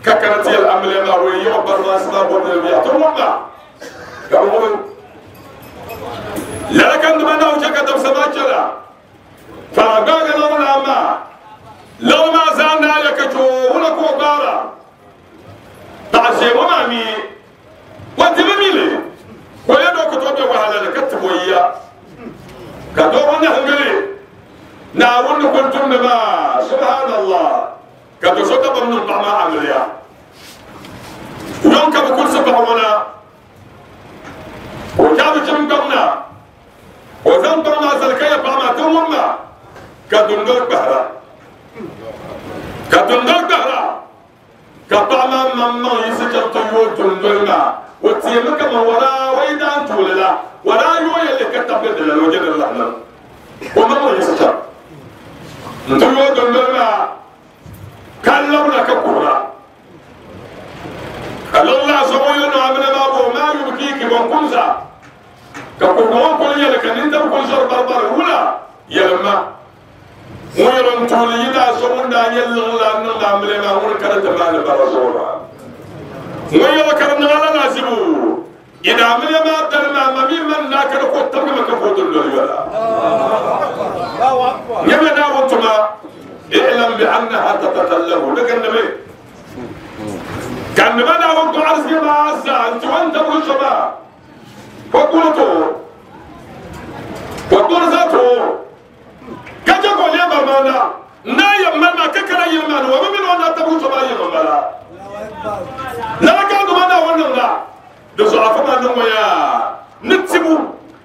ككرتي الأمل ما هو يعبر ما سبب ولا يعتبر لكن من أوجك تبسماتشلا فأقاق لولا ما لو ما زالنا يكتو ولكو قارا تعشي ومامي وانت مميلي ويدو كتوبي وحالا لكتب ويا كدور نهنجلي ناون كنتم نما سبحان الله كدو سوكا بمن الطعماء عمليا يوم كبكل سبع ولا وجاب كم قمنا وزن طلع سلكية بعما تمما كدندور بهرا كدندور بهرا كطعما مما يسجل طيور دندور وتيمك ما ولا ويدان طول لا ولا يوي اللي كتب بدل الوجه اللحن وما يسجل طيور دندور كلمنا ككورا قال الله سبحانه وتعالى ما يبكيك وكنزا كقوم كل يلك نندم كل شر بربر ولا يلما ويرن تولي دا سمون دا يلا نلا ملما وركرت ما نبرزورا ويلا كرنا لا ناسبو إذا ملما دلما ممن من لا كركو تبقى كفوت الدنيا يبدا وانتما اعلم بأنها تتطلب لك النبي كان بدا وقت عرس ما عزا انت وانت برشما وقلتو وقرزتو كجاكو يا برمانا نا يمنا ككرا يمنا ومن وانا تبرشما يمنا لا كانوا مانا وننا دسو عفما نمويا نتسبو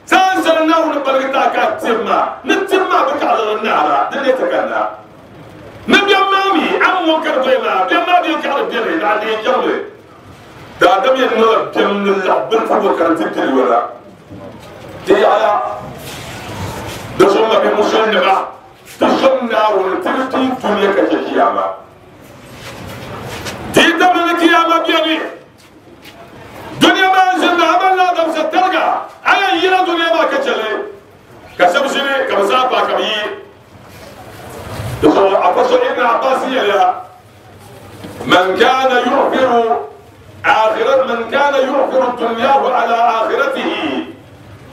سانسلنا ونبلغتا كاتما نتسما بك على النار دليتك نبي مامي أم وكر بينا بينا بيك على بينا على يجمل دا دم ينور بيم الله بنفو كرتي ولا تي على دسوما بمسلمة تسمنا ونترتي دنيا كتيامة تي دم القيامة بيني دنيا ما زلنا عملنا دم سترجع على يلا دنيا ما كتشلي كسب سنة كمسافة كبير ابن عباس من كان يؤثر آخرة من كان يؤثر دنياه على آخرته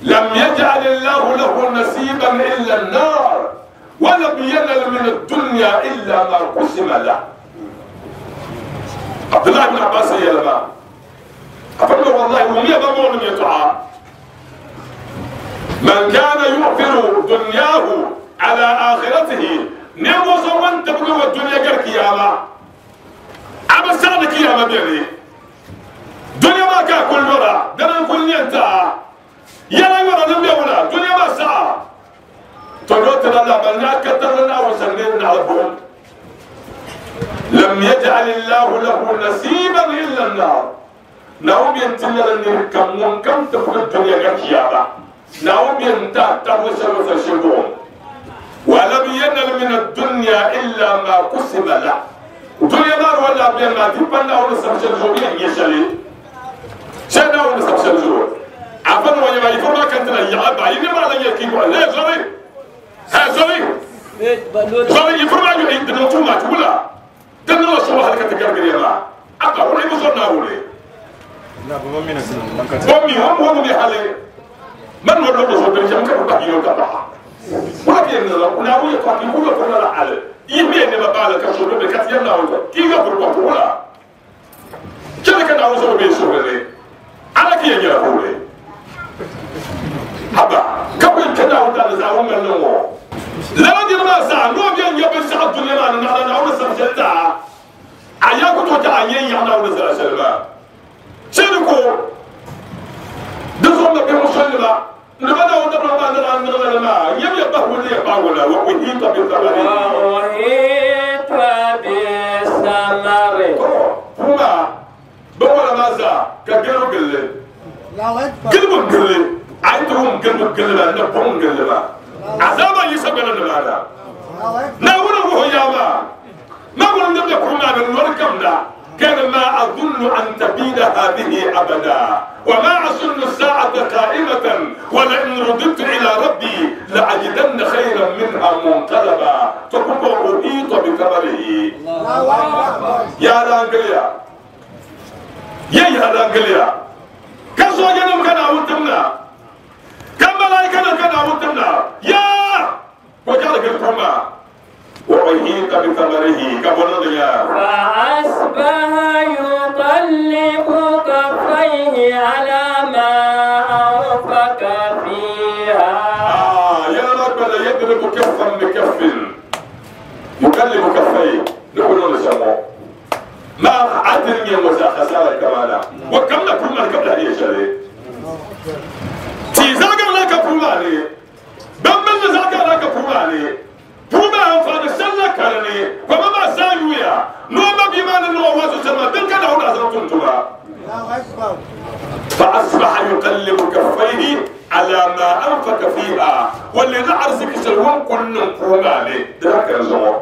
لم يجعل الله له نصيبا إلا النار ولم ينل من الدنيا إلا ما قسم له. عبد الله بن عباس يا لما أفضل والله ومية بمون يتعى من كان يؤثر دنياه على آخرته نمو زمان تبغى الدنيا غير قيامة أما سنة قيامة بيني دنيا ما كأكل مرة دنا كل ينتا يلا مرة نبي ولا دنيا ما ساعة تقول تلا بنا كترنا وسنين نعرفهم لم يجعل الله له نصيبا إلا النار نعم ينتلا لنركم من كم تبغى الدنيا غير قيامة نعم ينتا تبغى سنة ولم ينل من الدنيا إلا ما قسم له. الدنيا نار ولا بين ما تبنا ولا سبشل زوجين يشلي. شنا ولا سبشل زوج. عفوا ويا ما يفهم ما كنت لا يعب عيني ما لا يكيب لا زوي. ها زوي. زوي يفهم ما يعيد نوتو ما تقوله. دنا شو هذا كتجار كريما. أبا ولا يبصرنا ولا. لا بومي نسيم. بومي هم هم بيحلي. من هو اللي بيصور بيجمع كربلاء يوكا. ولكن لا ويا كاتي كله كله على يبي إن ما بالك كشوف بكاتي يمنا ولا كيف يبرو ولا كذا كان عاوز بيشوف لي على كي يجي هو هذا قبل كذا ولا زعوم من نوع لا دي ما زع نوع بين يبي سعد الدنيا ما نحن نعوز سبجتا أياكو توجع أيه يحنا ولا زع سلمة شنو دزوم بيمشي لماذا وتبرع ما نرى نرى ما يبي يبهو لي يبهو وأحيط بالثمر وأحيط بالثمر هما بقول ماذا كجلو قل قلب قل عندهم قلب قل لا نبهم قل لا عذاب يسبنا لنا نقول هو يا ما ما قلنا نبدأ كنا من وركمنا كان ما أظن أن تبيد هذه أبدا وما أظن الساعة قائمة ولئن رددت إلى ربي لأجدن خيرا منها منقلبا فكنت أحيط بثمره. يا رانجليا يا يا رانجليا كسو جنم كان أوتمنا كم ملائكة كان أوتمنا يا وجعل الكرمة وأحيط بثمره كبرنا فأصبح يقلب كفيه على ما أنفق فيها. آه يا رب لا يضرب كفا بكف يقلب كفيه نقول لسمو ما عدل يا خسارة كمانا وكم نكون قبل هذه الشيء تيزاق لك كمالي أنفق فيها واللي نعرزك سلوان كل نقوم عليه ده كان زمان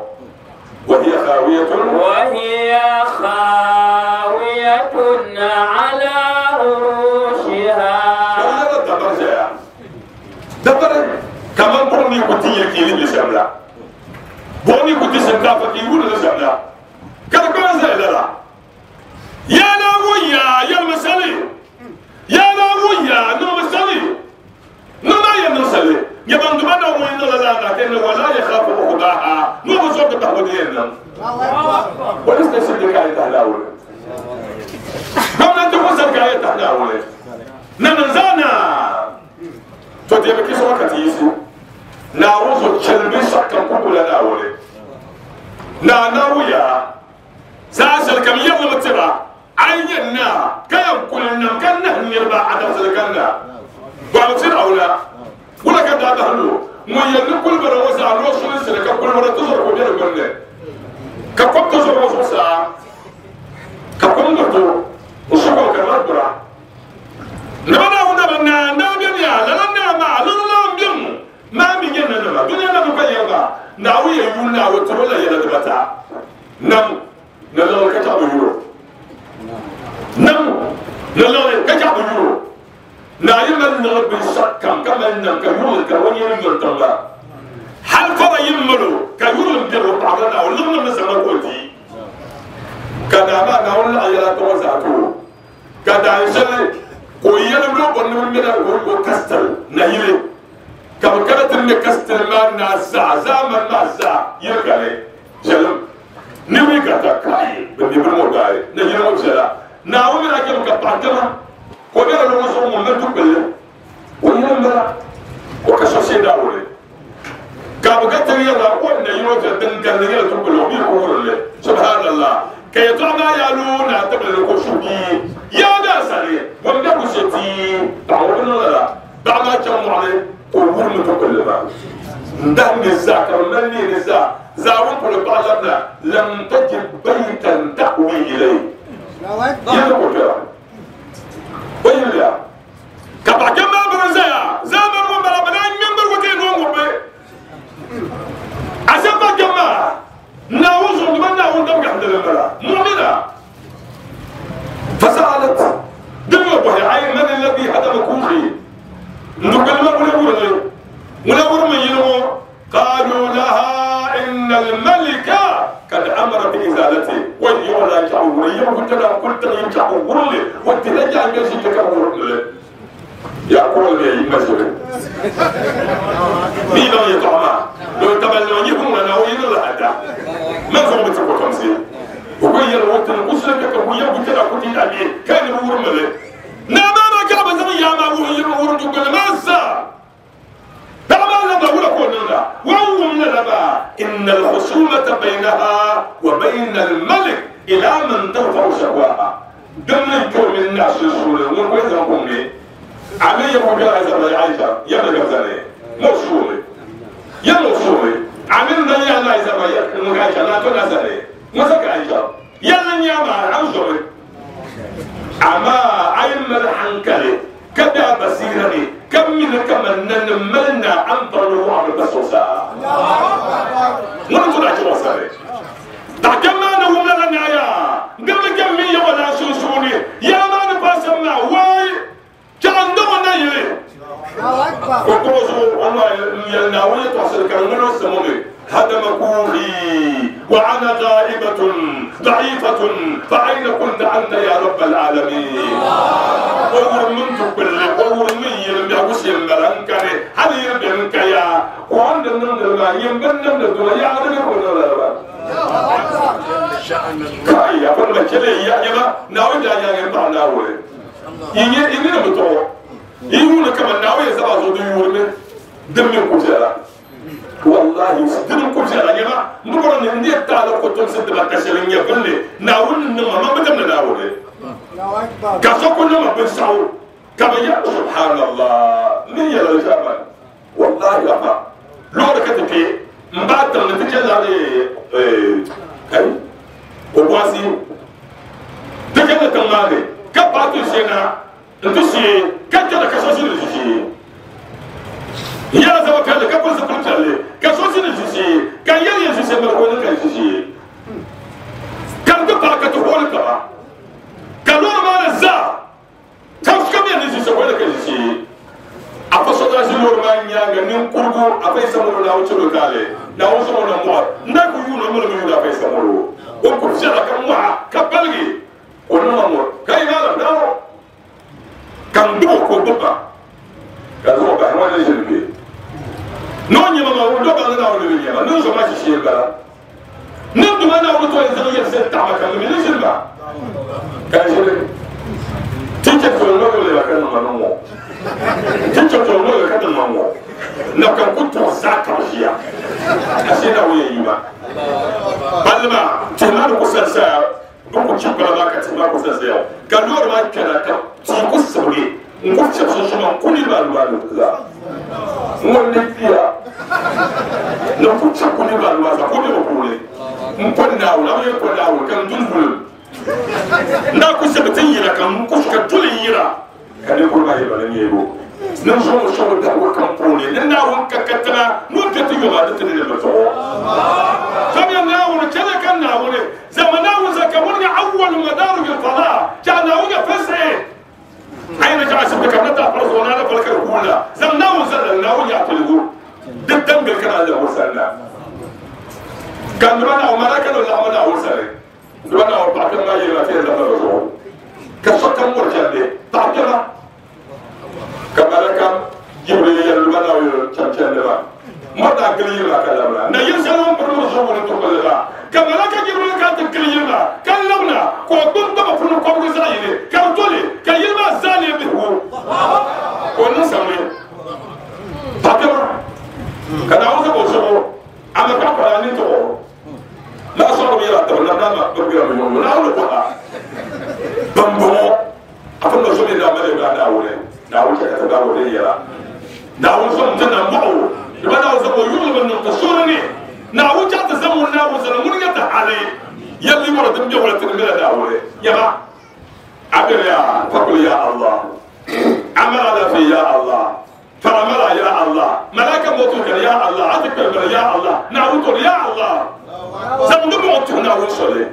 وهي خاوية وهي خاوية على عروشها هذا دبر جاء دبر كمان بوني كنتي يكيلي لشملة بوني كنتي شنكافة يقول لشملة كركوز لا يا ناوية يا المسالي يا ناوية نو مسالي نو ما يا مسالي يا من دبنا وين لا لا لا ولا يخاف عقباها نو بصوت تهودين ولست شدك على تهلاول ما انت وصلك على تهلاول نمزانا تودي بكي سوكا تيسو ناوزو تشلبي شكا كوكولا ناولي نا ناويا ساشل كم يوم متبع عينا كيم كلنا كنا نربع عدم سلكنا وعمتين أولا ولا كدا بهلو مو كل مرة وسع الوصول سلك كل مرة تزور كبير قلنا كقب تزور وصول ساعة كقب نرتو وشكو كمان برا نبنا هنا بنا نبنا لا لا ما لا لا بيم ما بيجينا نبا دنيا نبا يبا ناوي يقولنا وترولا يلا تبتا نم نلقى كتاب يورو نم نلقى كتاب يورو نايم النغب بالشكم كما نم كيورو كوني يمر تلا هل فرا يمرو كيورو بيرو بعضنا ولما نسمع قلتي كذا ما نقول أيلا توزعتو كذا إنسان كويا نمرو بنمر من الغرب كستل نهيله كم كانت النكستل ما نزع زمن نزع يرجع جلم نبي كذا كاي بنبي موجاي نهيله موجلا ناوي راكب كبانتما كوبيرا لو نصور من تقبل وينبلا وكشوشي داولي كابغت يلا وين يروح دنكن يلا تقبل وبيقول سبحان الله كي يطلع يالونا تقبل كشوبي يا ناسري ومن كشتي تعاون لا دعنا كم عليه قبول متقبل ما دم الزكاة من الزكاة زاون كل بعضنا لم تجد بيتا تأوي إليه يلا كبيرا ويلا كبا كما برزايا زامر ومرا بنان منبر وكين ومبي أسبا كما ناوز ودمنا وندم قحد المرا مؤمنة فسألت دم بوهي عين من الذي هدم كوخي نقول ما ولا ولا ولا ورم ينمو قالوا لها إن الملك قد أمر بإزالته ويولا كعوري يوم كنت قلت يكعوري وترجع يجي كعوري يا قول لي مسؤول مين يطعم لو تبلوني هم أنا وين لا هذا ما فهم بتقول خمسين وقول يا روت القصة كويا قلت لك كنت أبي كان يقول ملك نعم أنا كعب زي يا ما هو يقول تقول ما سا إن الخصومة بينها وبين الملك إلى من ترفع شكواها دم يكون من الناس السوري وين يقوم علي يقول يا عائشة يا بقى مو يا مو عملنا يا لا يا عائشة لا تنسى مسك عائشة يا لن يا ما عوزه أما عين الحنكلي كذا بصيرني كم من كم نملنا عن طلوع البسوسة ما نقول عشان وصلي تحكم أنا ولا أنا يا قبل كم مية ولا شو شوني يا ما نفاس ما واي كان دونا يلي وقوزو الله يلناوي توصل كان سموني هدم كوخي وأنا غائبة ضعيفة فأين كنت أنت يا رب العالمين؟ أور من تقبل أور من يلم يعوش يمبرنكني هل يلم يا وعند النمر ما يمبرن الدنيا يا رب ولا كاي يا فن بكلي يا يما ناوي يا يا يما ناوي إني إني نبتو يقول كمان ناوي سبعة زودي يورمي دم يكوزلا والله دم كوزلا يا ما نقول إن دي تعالى كتوم ست بكشلين يا فني ناوي نما ما بدنا ناوي كسوكو نما بنساو كما يا سبحان الله من يلا الجبل والله يا ما لو ركتك مبات نتجلى عليه كاي وبواسي تكلم تمامي كباتو سينا نتوسي كتلا كسوسي نتوسي Yala zaba piɛlli ka pili zipili piɛlli ka so ʒini ʒiʒee ka n yɛli yɛn ʒiʒee mali ka o niŋ ka ʒiʒee ka n ti paai ka ti hooli taba ka loori maa ni zaa tansukam yɛn ni ʒiʒee o ni ka ʒiʒee a fa so daa ʒi loori maa nyaanga ninkurugu a fa yi samolo Naawuni chɛlo taali Naawuni sɔŋɔ na mɔɣa n daa ku yuuni o mali mi yuuni a fa yi samolo o ku viɛla ka mɔɣa ka baligi o niŋ ma ŋɔ ka yi maa la daa ka n gbubi o ka o gbubi ba ka zaŋ o bahi ŋɔ ni ʒini kpe n'o nyɛma maa o dɔba ni Naawuni bi nyɛma ni n zɔ maa ʒiʒee n bala ni n duma Naawuni tɔ yɛn zaŋ yɛlisi n taɣama ka n mi ni ʒini ba ka n ʒini ti chɛ tɔli nɔgɔ le ba ka niŋ ma niŋ ŋɔ ti chɛ tɔli nɔgɔ ka niŋ ma ŋɔ na ka n ku tɔɣi zaa ka bi ʒiya a se Naawuni yɛn yi ma palli maa tihi maa ni ku sansaya bi ku chi kpala maa ka tihi maa ku sansaya ka loori maa kpɛna ka tia ku sibigi n ku fiɛbi sunsuuni n ku niriba anu anu zaa n ŋun ni kpiya ni ku chɛ ku niriba anu maa zaa ku bɛ bi puuni n pɔli Naawuni a bi yɛn pɔli Naawuni ka n duli bulim n daa ku sɛbi ti yira ka n ku ka duli yira ka ninkuri maa yɛlba ni neego ni n zuŋ sɔŋ dahigu kam puuni ni Naawuni ka katiŋa n'o bɛ ti yɔma ni ti ni bi zuɣu samiya Naawuni chɛli ka Naawuni zama Naawuni zaka ŋuni nyɛ awwal madarij al-fada cha Naawuni nyɛ fɛsɛ ayi ni chaɣa asibiti ka bi na taa pari zuɣu naa na pali ka di kuula zaŋ Naawuni zali Naawuni nyɛ apiligu di dambili ka naa lahi sani na ka nima Naawuni malaka ni laɣima Naawuni sani nima Naawuni paɣa kpɛma maa yɛli ma ti yɛn zaŋ ba zuɣu ka sokam mɔri chɛndi paɣa kpɛma ka malaka Jibril yɛli nima Naawuni chɛn chɛndi ba mɔri daa gili yiri maa ka labina na yili shɛli ŋun piri mi zuɣu ni tuɣuli ba ka malaka Jibril ka ti gili yiri maa ka labina ka o gbubi daba puni kɔbigu zaɣ yini ka di toli ka yili maa zaa lee bihigu ka o niŋ samli paɣa kpɛma ka Naawuni zaŋ o zuɣu a ma paɣa kpala ni tuɣu n'a sɔrɔ bi yɛlɛ a taba na n'a ma bi gbira mi ɲɔgɔn Naawuni kɔha ban bɔŋɔ a fɔ ma so min na mali ba Naawuni Naawuni chɛ ka ti baabo din yɛla Naawuni sɔn ti na mɔɣu ba Naawuni sɔn o yuɣuli bi niŋ ti sori ni Naawuni chɛ ti zaŋ ŋun Naawuni sani ŋuni nyɛ ti hali yɛlli wɔri din bɛ wala ti ni mila Naawuni yaba abiri ya fakul ya Allah amara la fi ya Allah faramala ya Allah malaka motu kan ya Allah ati kpɛlbɛlɛ ya Allah Naawuni tɔri ya Allah zaŋ di mɔɣu tuhi Naawuni soli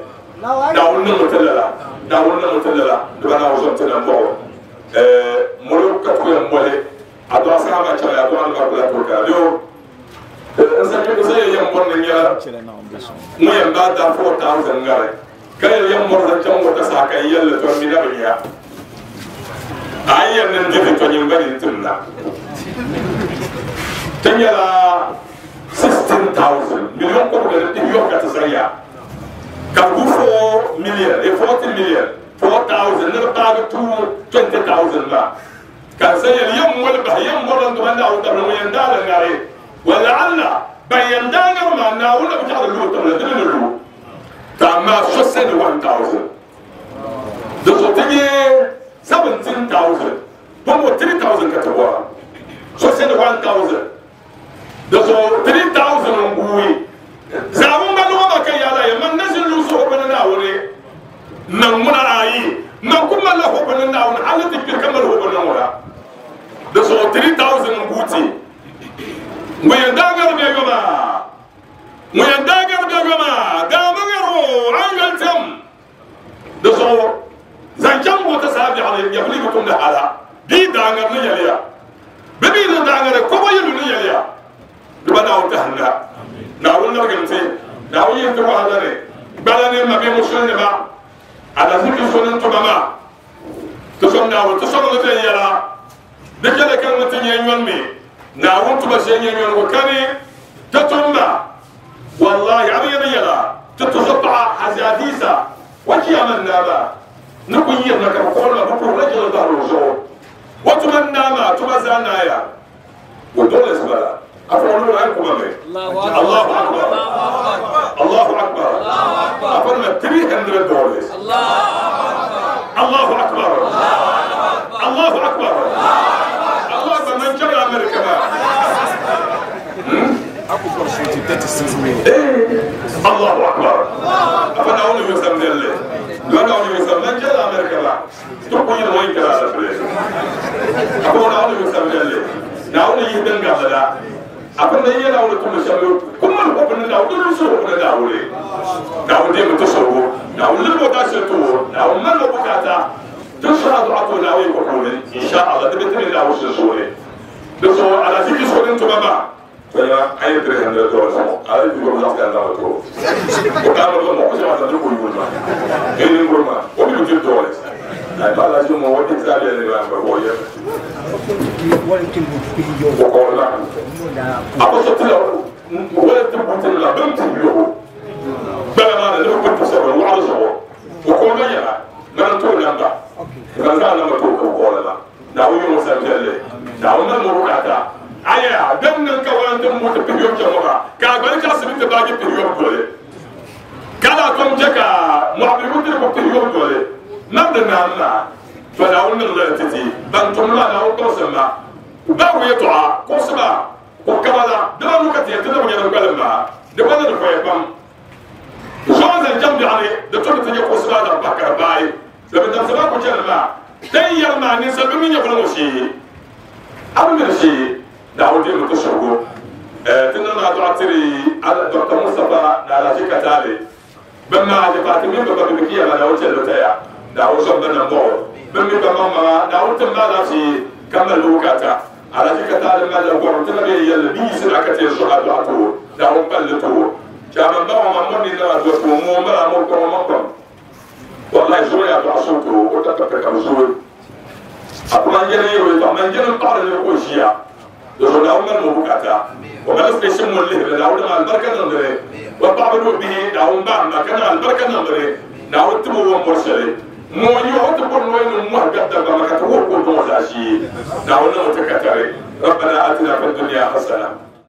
Naawuni niŋ ti lala Naawuni niŋ ti lala di ba Naawuni sɔn ti na mɔɣu molo ka ku yɛn mɔli a dɔɣa saha maa chɛŋ a dɔɣa ni maa kula kuri ka yo n sa n sa yɛn mɔri ni nyɛla ŋun yɛn baa da four thousand ŋari ka yɛn yɛn mɔri zaŋ chaŋ wata saha ka n yɛlli tɔ mi na bi nya a yi yɛn niŋ dibi tɔ nyin ba ni tim na ti nyɛla sixteen thousand million kɔbiga ni yɔ ka ti zaŋ ya ka ku four million e forty million four thousand ni bi paagi two twenty thousand maa ka n yɛli yɛn mɔli bahi yɛn mɔri n tuma Naawuni tabili ŋun yɛn daa li ŋari wala alla ban yɛn daa ŋari maa Naawuni na bi chaɣi di lu tabili di ni lu ka amaa so sɛni one thousand di so ti nyɛ seventeen thousand bɔnbɔ three thousand ka ti bɔra so sɛni one thousand di so three thousand n guui zaawun ba lɔgɔ ma ka yaala yɛ man na ʒini lu so bini Naawuni man ŋuna ayi man ku mali la hobi ni Naawuni hali ti kpiri ka mali hobi ni ŋuna di so three thousand n guuti ŋun yɛn daa ŋari bɛ yoma ŋun yɛn daa ŋari bɛ yoma daa ma ŋari o an yɔli tɛm di so zaŋ chaŋ wata saa biɛɣuni nyɛvuli bi tumdi hala bii daa ŋari ni yɛliya bi mi ni daa ŋari kɔbɔ yilu ni yɛliya di ba Naawuni tahinda Naawuni larigim ti Naawuni yin ti wahala ni gbala ni ma bɛ musulinima alaziki so ni tuma maa ti sɔn Naawuni ti sɔŋ ni ti yɛla di chɛli ka ŋun ti nyɛ nyɔni mi Naawuni tuma shee nyɛ nyɔni ko kani ti tumba wallahi a bi yɛli yɛla ti tuso paɣa Hazadisa wa kiyama naama ni ku yirina ka bi kɔɣili ma bi puhiri la jɛli bahiri o zuɣu o tuma naama tuma zaa naaya o dollars bala a fɔ olu an kuma mɛ Allahu akbar Allahu akbar a fɔ ma three hundred dollars Allahu akbar Allahu akbar Allahu akbar man chɛla America ma thirty-six million. Allahu akbar a fɔ Naawuni yɔ sam delli dɔ Naawuni yɔ sam man chɛla America ma to ku yiri wɔn kɛra la fili a fɔ Naawuni yɔ sam delli Naawuni yihi din gabli la a bi ni yɛ Naawuni tumdi shɛm ku mali o bini Naawuni di suhu ni Naawuni Naawuni deemi ti suhigu Naawuni lirigi o daashili ti o Naawuni mali o bukaata ti suhi a duɣa ti o Naawuni ko puuni insha Allah di bi ti mi Naawuni sunsuuni di zuɣu alaziki so din tuma maa tɔya an ye three hundred dollars sɔngɔ ala yi ko zaɣ kan dama to o k'a ma dɔn mɔgɔ caman san ne ko yuli ma e ni ngoro ma o bi ti dollars ayi ba la mɔ o ti taa yɛlɛ ba ba o yɛ o kɔrɔ la a ko so ti la wala ti bu ti la bɛn ti yo gbɛlɛ maa ne bɛ ko sɔrɔ wɔɔrɔ sɔrɔ o kɔrɔ la yɛlɛ n'an t'o lamba n'an t'a lamba t'o ko kɔrɔ la n'aw ye o san piɛlli n'aw na muru ka taa aya dem nan ka wala dem mo te piyo jama ka gbali ka sibi te baaji piyo dole kala kom jeka mo abi mo te ko piyo dole nam de nam na to na won la titi ban tom la na ko sema ba wo yeto a ko sema ko kabala de la ka te te mo nyana ko ma de ko na ko pam zo zan jam bi ale de to te ko sema da bakar bay de ben sema ko jema den yalma ni sa bi mi nyako mo si abu mi si Naawuni deemi ti suhigu ti niŋ na dɔɣa tiri Doctor Mustapha ni Alhaji Katale bɛ maaji paati mini bɛ ba bɛ kiya ma Naawuni chɛli taya Naawuni zɔm bɛ nambɔɣu bɛ mi ba maŋmaŋa Naawuni tim ma alaafee ka mali bukata Alhaji Katale mali la gɔrim ti na bɛ yɛlli bi yiɣisi na ka ti yɛn suhi a dɔɣa ti o Naawuni palli ti o chairman ba ŋɔ ma mɔri ni na dɔɣa ti o ŋɔ mala mɔri kɔŋɔ ma kɔm wallahi zuɣu yaa dɔɣa suhu ti o o ta ka kam zuɣu a kuma n yɛli yɛrɛ o man jɛni paɣari ni o ʒiya dozo Naawuni mali mo bukata o mali station mo lihiri Naawuni niŋ alibarika niŋdili o paɣaba ni o bihi Naawuni baam na ka niŋ alibarika niŋdili Naawuni timi o mɔri shɛli ŋɔ nyɛ o ti bɔri nɔyi ni mɔhi gabi dagbama ka ti wuhi ka o dɔŋ zaashee Naawuni niŋ o ti katari. ربنا آتنا في الدنيا حسنة.